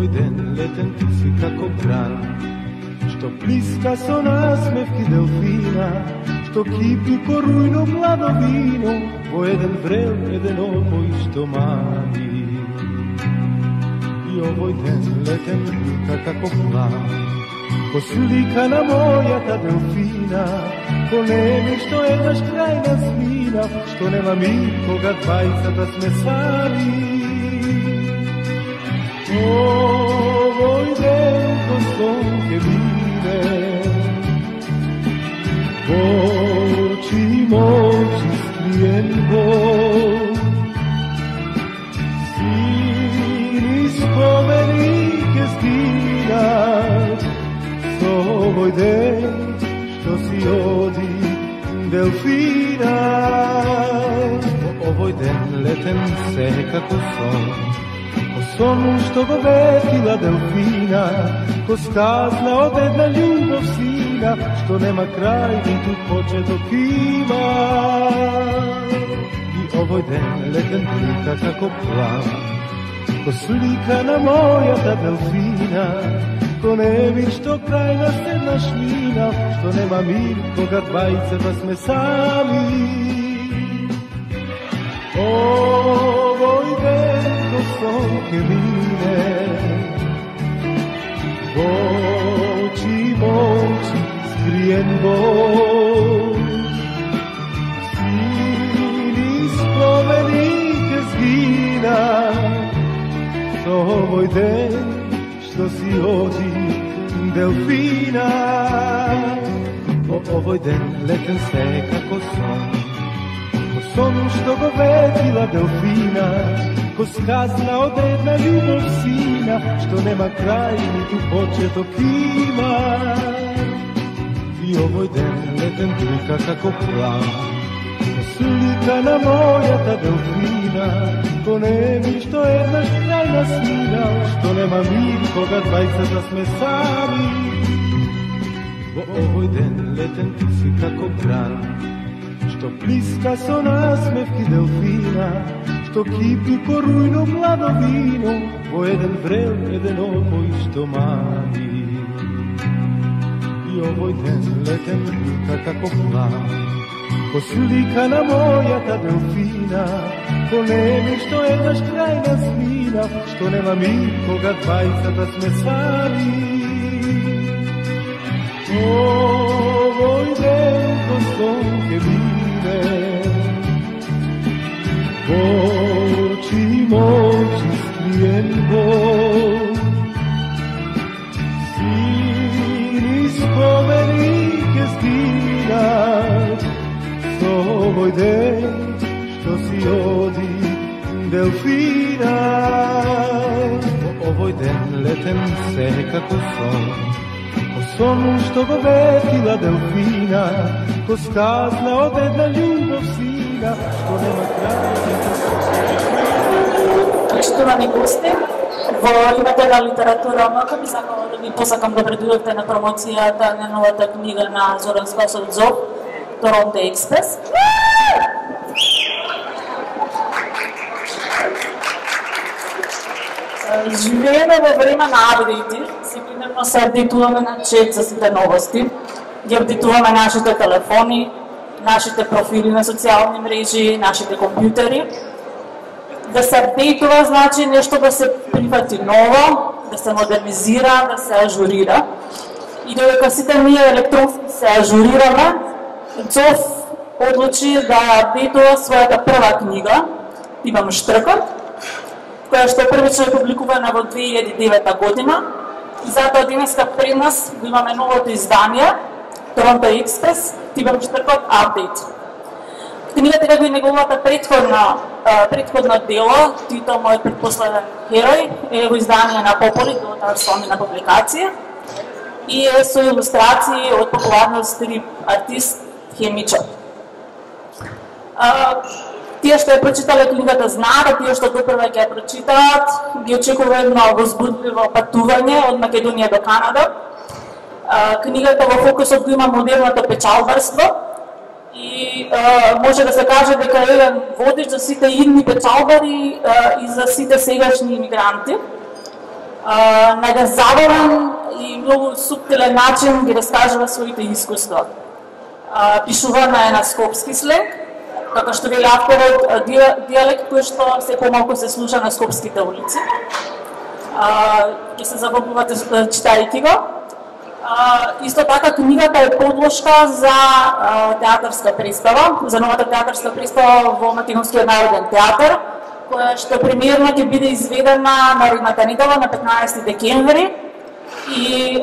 Овој ден летен ти си како гран, што плиска со насмевки делфина, што кипи ко рујно младо вино, во еден врел, еден опој што мани. И овој ден летен лука како план, ко слика на мојата делфина, ко неми што еднаш крајна смина, што нема мир кога двајцата сме сами. Овој ден ко сон ке биде, очи мочи скриен Бог, сини спомени ке сгинат, со овој ден што си оди делфина. Овој ден летен се како сон, ко сон што го ветила делфина, ко сказна од една љубов сина, што нема крај ниту почеток има. И овој ден летен плика како план, ко слика на мојата делфина, ко неми што крајна седнаш мина, што нема мир кога двајцата сме сами. Овој ден ко сон ке мине, очи мочи скриен Бог, сини спомени ке сгинат, со овој ден што си оди делфина. Овој ден летен се како сон, ко сон што го ветила делфина, ко сказна од една љубов сина, што нема крај ниту почеток има. И овој ден летен плика како план, ко слика на мојата делфина, ко неми што еднаш крајна смина, што нема мир кога двајцата сме сами. Во овој ден летен ти си како гран, што плиска со насмевки делфина, што кипи ко рујно младо вино, во еден врел, еден опој што мани. И овој ден летен лука како план, ко слика на мојата делфина, ко неми што еднаш крајна смина, што нема мир кога двајцата сме сами. Овој ден ко сон ке биде, очи мочи скриен Бог, сини спомени ке сгинат, со овој ден што си оди делфина. Овој ден летен се како сон, ко сон што го ветила делфина, ко сказна од една љубов сина, што нема крај.
Почитувани гости, во името на литература омака би сакала да ви посакам да дојдете на промоцијата на новата книга на Зоран Спасов Зов, Торонто Експрес. Живееме во време на апдејти, секојдневно се апдейтуваме на чет за сите новости, ги апдейтуваме нашите телефони, нашите профили на социјални мрежи, нашите компјутери. Да се апдейтува значи нешто да се прифати ново, да се модернизира, да се ажурира. И додека сите ние електронски се ажурираме, Зов одлучи да апдейтува својата прва книга, Имам штркот, која што првично е публикувана во 2009 година. И затоа денеска пред нас го имаме новото издание, Торонто Експрес, Имам штркот Апдейт. Книгата како и неговата предходно дело, Тито, мојот предпоследен херој, е во издание на Пополи, делото сломена публикација, и е со илустрации од популарниот стрип артист Хемичо. Тие што ја прочитале книгата знаат, тие што допрва ќе ја прочитаат, ги очекува едно возбудливо патување од Македонија до Канада. Книгата во фокусот го има модерното печалбарство и може да се каже дека е еден водич за сите идни печалбари и за сите сегашни имигранти. на еден забавен и многу суптилен начин ги раскажува своите искуства. Пишувана е на скопски сленг, како што вели авторот, диалект кој што се помалку се слуша на скопските улици. Ќе се забавувате читајќи го. Исто така книгата е подложка за театарска представа, за новата театарска представа во Македонскиот народен театар, која што премиерно ќе биде изведена наредната недела на 15 декември и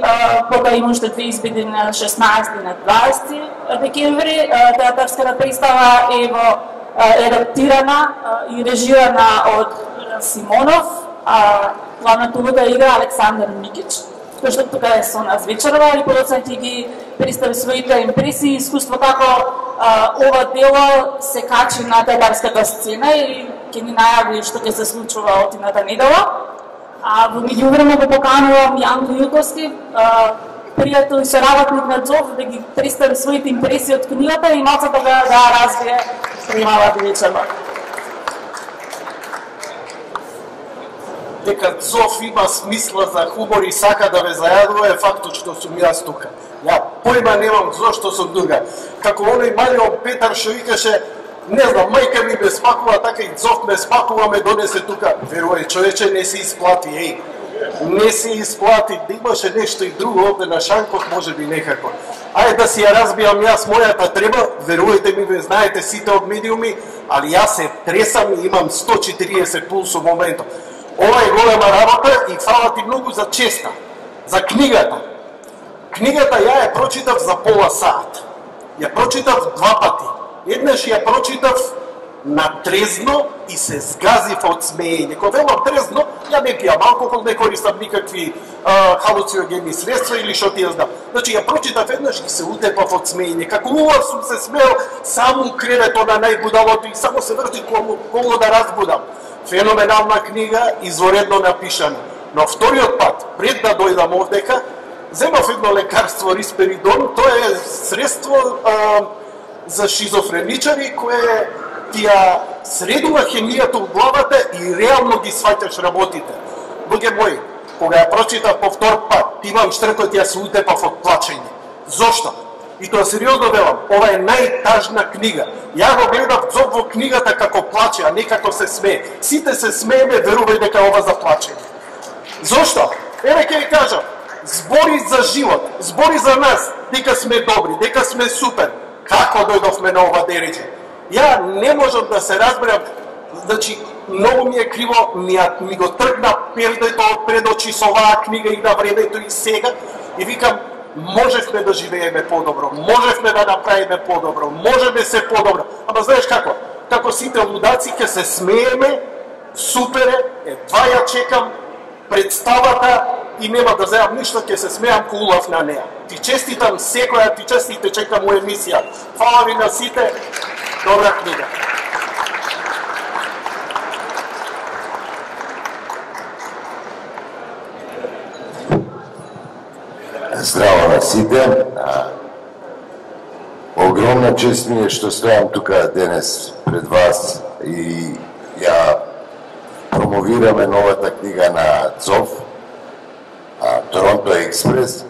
кога има уште две избеди на 16 и на 20 декември. Театарската представа е адаптирана и режирана од Симонов, главната улога игра Александар Микич, кој што тука е со нас вечерва и подоцна ќе ги представи своите импресии и искуство како ова дело се качи на театарската сцена и ќе ни најави што ќе се случува од идната недела. Во меѓувреме го поканувам Јанко Јуковски, пријател и соработник на ДЗОВ, да ги представи своите импресии од книгата и малку да развие примавата вечерва.
Дека ДЗОВ има смисла за хумор и сака да ве зајадува е фактот што сум јас тука. Ја појма немам зошто сум тука. Како оној Марион Петар што викаше, не знам, мајка ми ме спакува, така и ДЗОВ ме спакува, ме донесе тука. Верувај, човече, не се исплати, еј. Не се исплати, да имаше нешто и друго овде на Шанков, може би некако. Ајде да си ја разбијам јас мојата треба, верувајте ми, ве знаете сите од медиуми, али јас се тресам и имам 140 пулс во моментот. Ова е голема работа и фала ти многу за честа, за книгата. Книгата ја ја прочитав за пола саат. Ја прочитав 2 пати. Еднаш ја прочитав на трезно и се згазив од смеење. Кога велам трезно, ја не пијам алкохол, не користам никакви халуциногени средства или што ти ја знам. Значи ја прочитав еднаш и се утепав од смеење. Како убав сум се смеел само у креветот на најбудалото и само се врти коло да разбудам. Феноменална книга, изворедно напишана. Но вториот пат, пред да дојдам овдека, земав едно лекарство рисперидон, тоа е средство за шизофреничари кое ти ја средува хемијата у главата и реално ги сваќаш работите. Луѓе мои, кога ја прочитав по втор пат, имам штркот, ја се утепав од плачење. Зошто? И тоа сериозно велам, ова е најтажна книга. Ја го гледав ДЗОВ во книгата како плаче, а не како се смее. Сите се смееме, верувај дека ова за плачење. Зошто? Еве ќе ви кажам, збори за живот, збори за нас, дека сме добри, дека сме супер. Како дојдовме на ова дереđe? Ја не можам да се разберам, значи, многу ми е криво, ми го тргна пердето од пред очи со оваа книга и на времето и сега, и викам, можевме да живееме подобро, можевме да направиме подобро, можеме се подобро. Ама знаеш како? Како сите лудаци ќе се смееме, супер е, едва ја чекам представата и нема да земам ништо, ќе се смеам ко улав на неа. Ти честитам секоја, ти честите чекам у емисија. Фала ви на сите, добра книга.
Здраво на сите. Огромна чест ми е што стојам тука денес пред вас и ја промовираме новата книга на ДЗОВ, Торонто Експрес.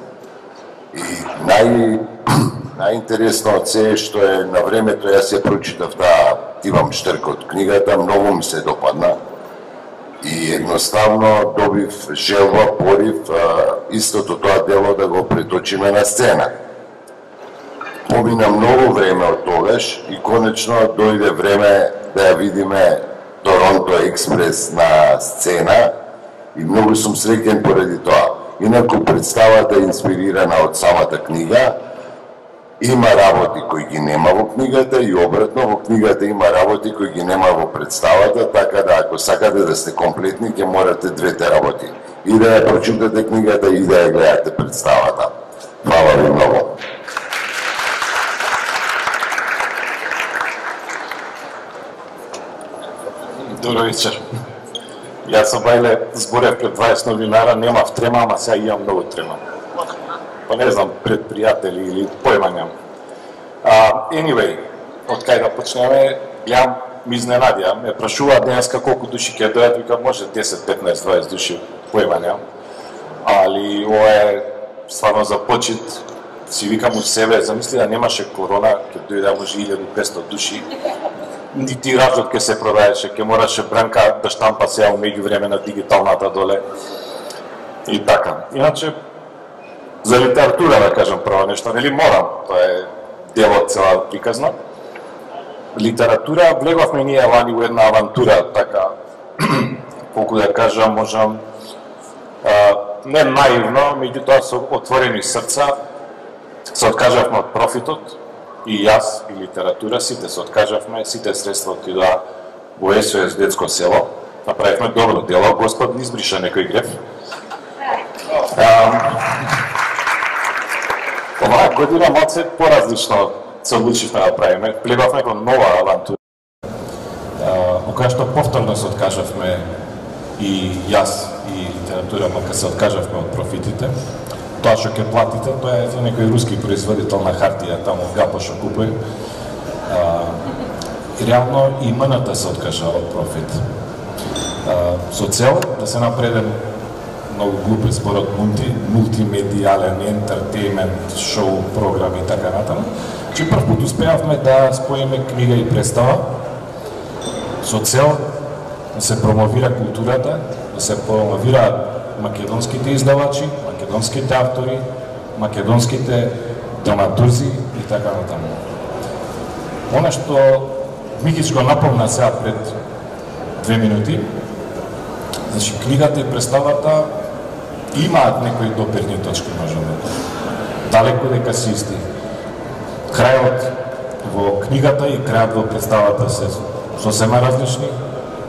И најинтересно од се е што е на времето јас ја прочитав таа, имам штрк од книгата, многу ми се допадна. И едноставно добив желба, порив, истото тоа дело да го преточиме на сцена. Помина многу време од тогаш и конечно дојде време да ја видиме Торонто Експрес на сцена и многу сум среќен поради тоа. Инаку представата е инспирирана од самата книга, има работи кои ги нема во книгата и обратно, во книгата има работи кои ги нема во представата, така да ако сакате да сте комплетни, ќе морате двете работи. И да ја прочитате книгата и да ја гледате представата. Фала ви многу.
Добро вечер. Јас сум бајле зборев пред 20 новинара, немав трема, ама сега имам многу трема. Па не знам, пред пријатели или појма нямам. Anyway, од кај да почнеме, гледам, ми изненадија, ме прашуваат денеска колку души ќе дојат, викам може 10, 15, 20 души, појма нямам. али ова е стварно за почит. Си викам од себе, замисли да немаше корона, ќе дојде може 1500 души, и тиражот ќе се продаеше, ќе мораше Бранка да штампа сега меѓу време на дигиталната доле. И така. Иначе, за литература да кажам прво нешто, нели морам, тоа е дел од цела приказна. Литература, влеговме ние лани во една авантура, така, колку да кажам, можам, не наивно, меѓутоа со отворени срца, се откажавме од профитот, и јас, и литература, сите се откажавме, сите средства отидоа во СОС детско село, направивме добро дело, Господ ни избриша некој греф. Оваа година малце поразлично се одлучивме да правиме, влегавме во нова авантура, во која што повторно се откажавме и јас, и литература, мака се откажавме од профитите. Тоа што ќе платите, тоа е за некој руски производител на хартија, таму Гапо што купува. Реално и МНТ се откажа од профит. Со цел да се напреден многу глупи зборот мултимедијален, ентертејмент, шоу, програми и така натаму. Че прв пат успеавме да споиме книга и представа со цел да се промовира културата, да се промовира македонските издавачи, македонските автори, македонските драматурзи и така натаму. Она што Микич го напомна сега пред 2 минути, значи книгата и представата имаат некои допирни точки, можеме. Далеко дека се исти. Крајот во книгата и крајот во представата се сосема различни.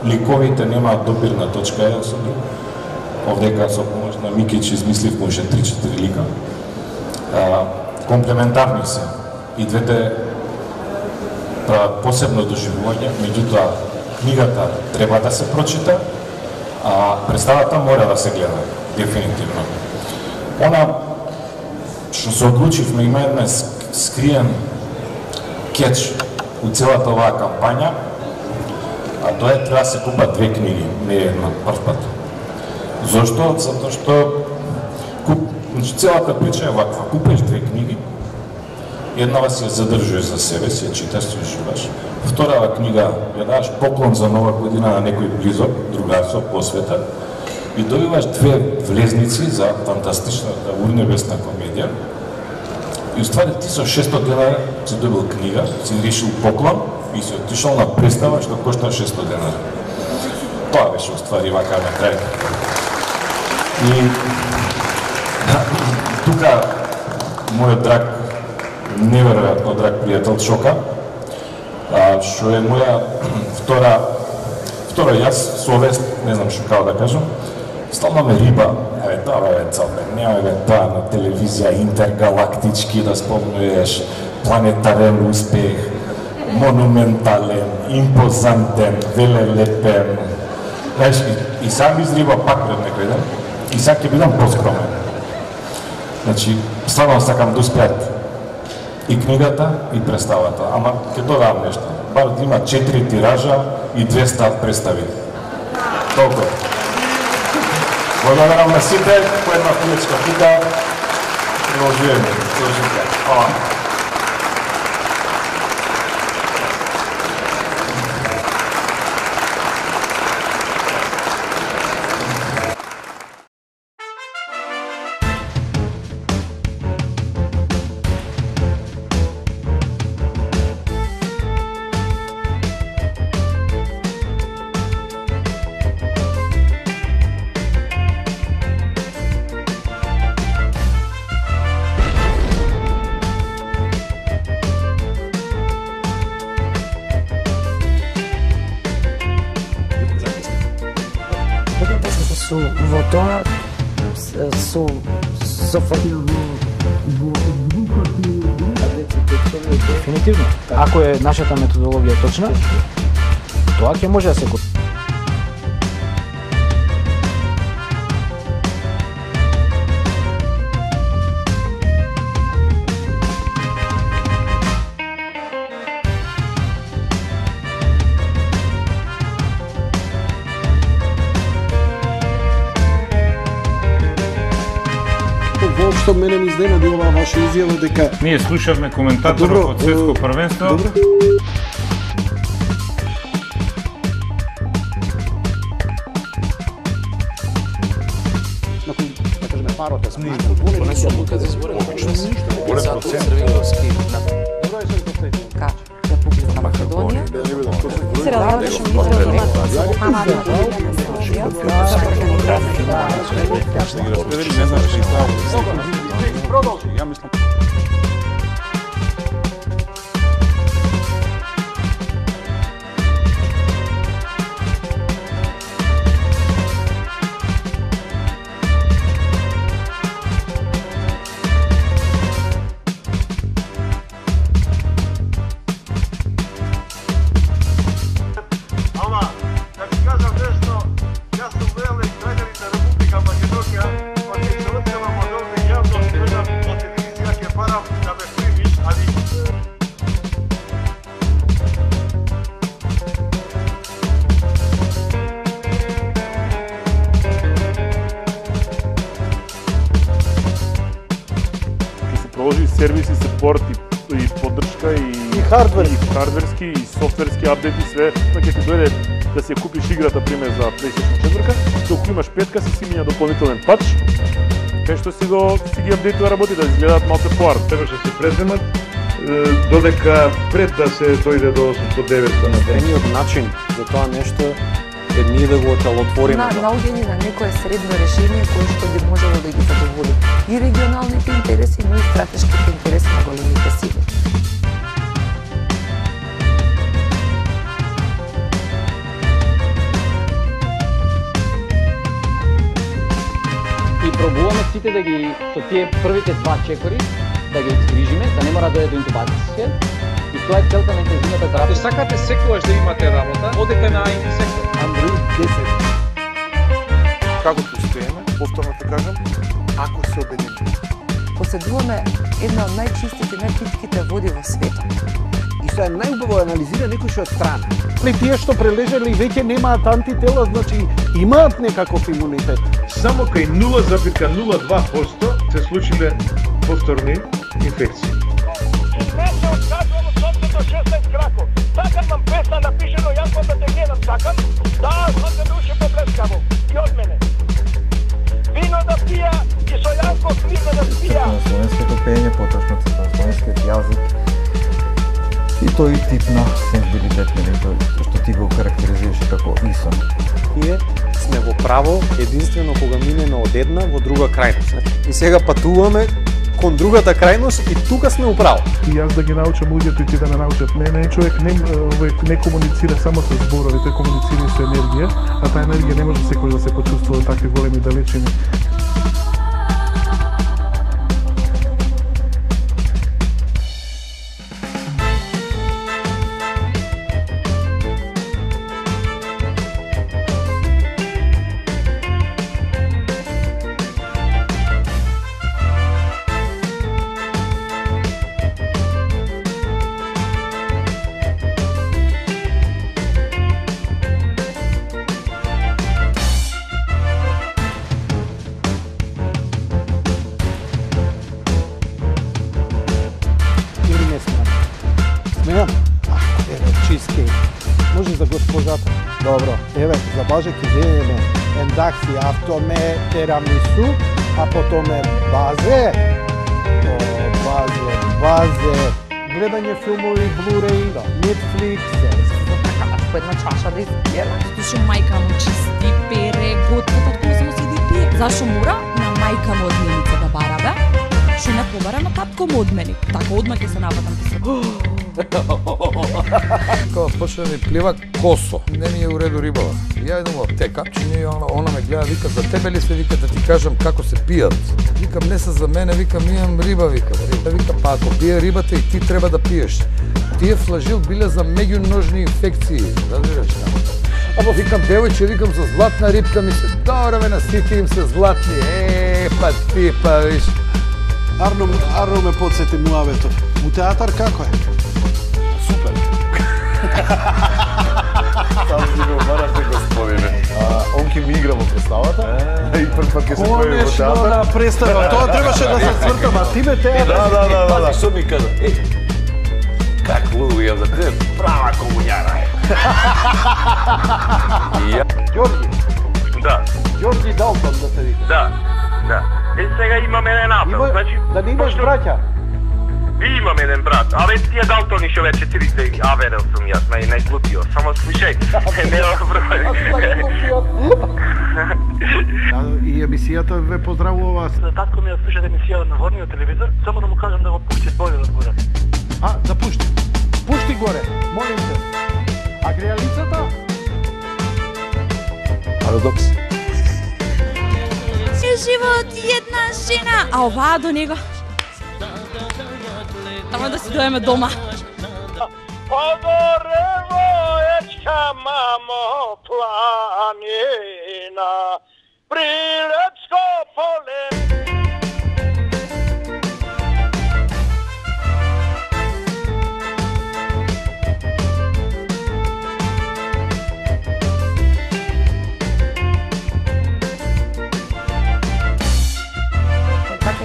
Ликовите немаат допирна точка еден со друг. Овдека со помош на Микич измислив може 3-4 лика. Комплементарни се. И двете прават посебно доживување, меѓутоа книгата треба да се прочита, а представата мора да се гледа, дефинитивно. Она што се одлучивме, има една скриен кетч у целата оваа кампања, а тоа е треба да се купат 2 книги, не една прв пат. Зошто? Затоа што целата прича е ваква. Купеш 2 книги, еднава си ја задржуваш за себе, си ја читаш, си ја шиваш. Вторава книга ја даваш поклон за нова година на некој близок, другарство, посвета, и добиваш 2 влезници за фантастичната урнебесна комедија. И уствари ти со 600 денара си добил книга, си решил поклон и си отишол на представа што кошта 600 денара. Тоа беше уствари вака на крај. И тука мојот драг, неверојатно драг пријател Чока, што е моја втора јас, совест, не знам што како да кажам, стално ме риба, тоа е цалбе, нема тоа на телевизија интергалактички да спомнуеш, планетарен успех, монументален, импозантен, велелепен. Знаеш, и сам изриба пак пред некој ден, и сега ќе бидам поскромен. Значи, стварно сакам да успеат и книгата, и представата, ама ќе додавам нешто. Бар да има 4 тиража и 200 представи. Толку. Благодарам на сите, по една полечка тука, продолжуваме. Хвала.
Во тоа со
Дефинитивно. Ако е нашата методологија точна, тоа ќе може да се купи.
Исто мене ми изненади оваа ваша изјава дека
ние слушавме коментаторот од светско првенство.
Добро.
Да кажеме парот е смешно. Не се одлука за избори. Голем процент.
Република Македонија. Се разгледаше министерот
Ще ги разпредели, не знам што и
Продолжи. Ја мислам.
сервиси, сепорт и поддршка и хардверски и софтверски апдети, све, па ќе ти дојде да си ја купиш играта пример за PlayStation 4, доколку имаш 5-ка си минја дополнителен патч, кај што си ги апдейтува работи да изгледаат малку поар.
Требаше се преземат додека пред да се дојде до 800-900 на ден.
Едниот начин за тоа нешто е ние да го отелотвориме.
Наоѓање на некое средно решение кое што би можело да ги задоволи и регионалните интереси, но и стратешките интереси на големите сили.
И пробуваме сите да ги со тие првите два чекори да ги згрижиме, да не мора да дојде до интубација. И тоа е целта на интензивната терапија.
Ако сакате секогаш да имате работа, одете на IT сектор.
Android 10. Како постоеме, повторно те кажам, ако се обединиме.
Поседуваме една од најчистите, најпитките води во светот.
И се најубаво анализира некој што е страна.
Тие што прележале веќе немаат антитела, значи имаат некаков имунитет.
Само кај 0,02% се случиле повторни инфекции.
Сакам нам песна напишено, јас да те гледам, сакам. Да, знам да душе поплескаво. И од мене. Вино да пија и со јанко книга да спија.
На словенското пење, поточно на словенскиот јазик. И тој тип на сензибилитет, што ти го карактеризираше како ИСОН.
Ние сме во право единствено кога минеме од една во друга крајност. И сега патуваме кон другата крајност и тука сме управо.
И јас да ги научам луѓето и ти да ме научат мене. Човек не комуницира само со зборови, тој комуницира со енергија, а таа енергија не може секој да се почувствува такви големи далечини.
Добро, еве, за Боже ќе земеме ендакси, автоме, терамису, а потоме базе, гледање филмови, Blu-ray, Netflix.
По една чаша да изпиеме.
Зашо мајка му чисти, пере, готва, татко само седи пие. Зашо мора на мајка му одменица да барабе? Шо не побара на татко му одмени. Така одма ќе се нападам ти се.
Кога почне да ми плива косо, не ми е уреду рибава. Ја идам во аптека, че она ме гледа, вика, за тебе ли се, вика, да ти кажам како се пијат. Викам, не се за мене, викам, имам риба, викам. Вика, па ако пие рибата и ти треба да пиеш. Тие флажил биле за меѓуножни инфекции, разбираш? Або викам, девојче, викам, за златна рибка ми се, добро ме на сите им се златни, па ти, па виш.
Арно ме подсети муавето. У театар како е?
Супер. Сам си го барате, господине.
Он
ќе ми игра во представата и прв пат ќе се појави во
Конечно
театар.
на представа, тоа требаше да се свртам, а тебе театар.
Да.
Пази што ми кажа, как луѓе за те права комуњара е.
Ѓорги.
Да.
Ѓорги Далтон да се вика.
Да. Сега имам еден апел, значи
да не имаш браќа.
Ви имам еден брат, тие Далтони што вече трите аверел сум јас, најглупио. Само слушај, нема проблем.
И емисијата ве поздравува.
Татко ми ја слуша емисијата на ворниот телевизор, само да му кажам да го пушти бојот горе.
Да пушти.
Пушти горе, молим те. А грејалицата?
Парадокс.
Живот една жена, а оваа до него. Само да си доеме дома.
Подорево ечка мамо планина, Прилепско поле.
Така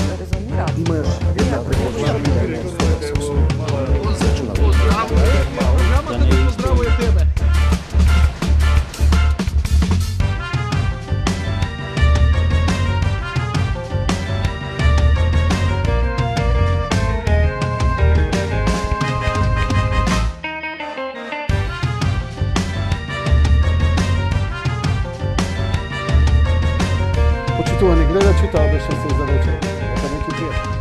ли резонира?
Имаш една препозна.
Програмата ти поздравува тебе.
Почитувани гледачи, тоа беше се за вечер. Нека не ти пријатно.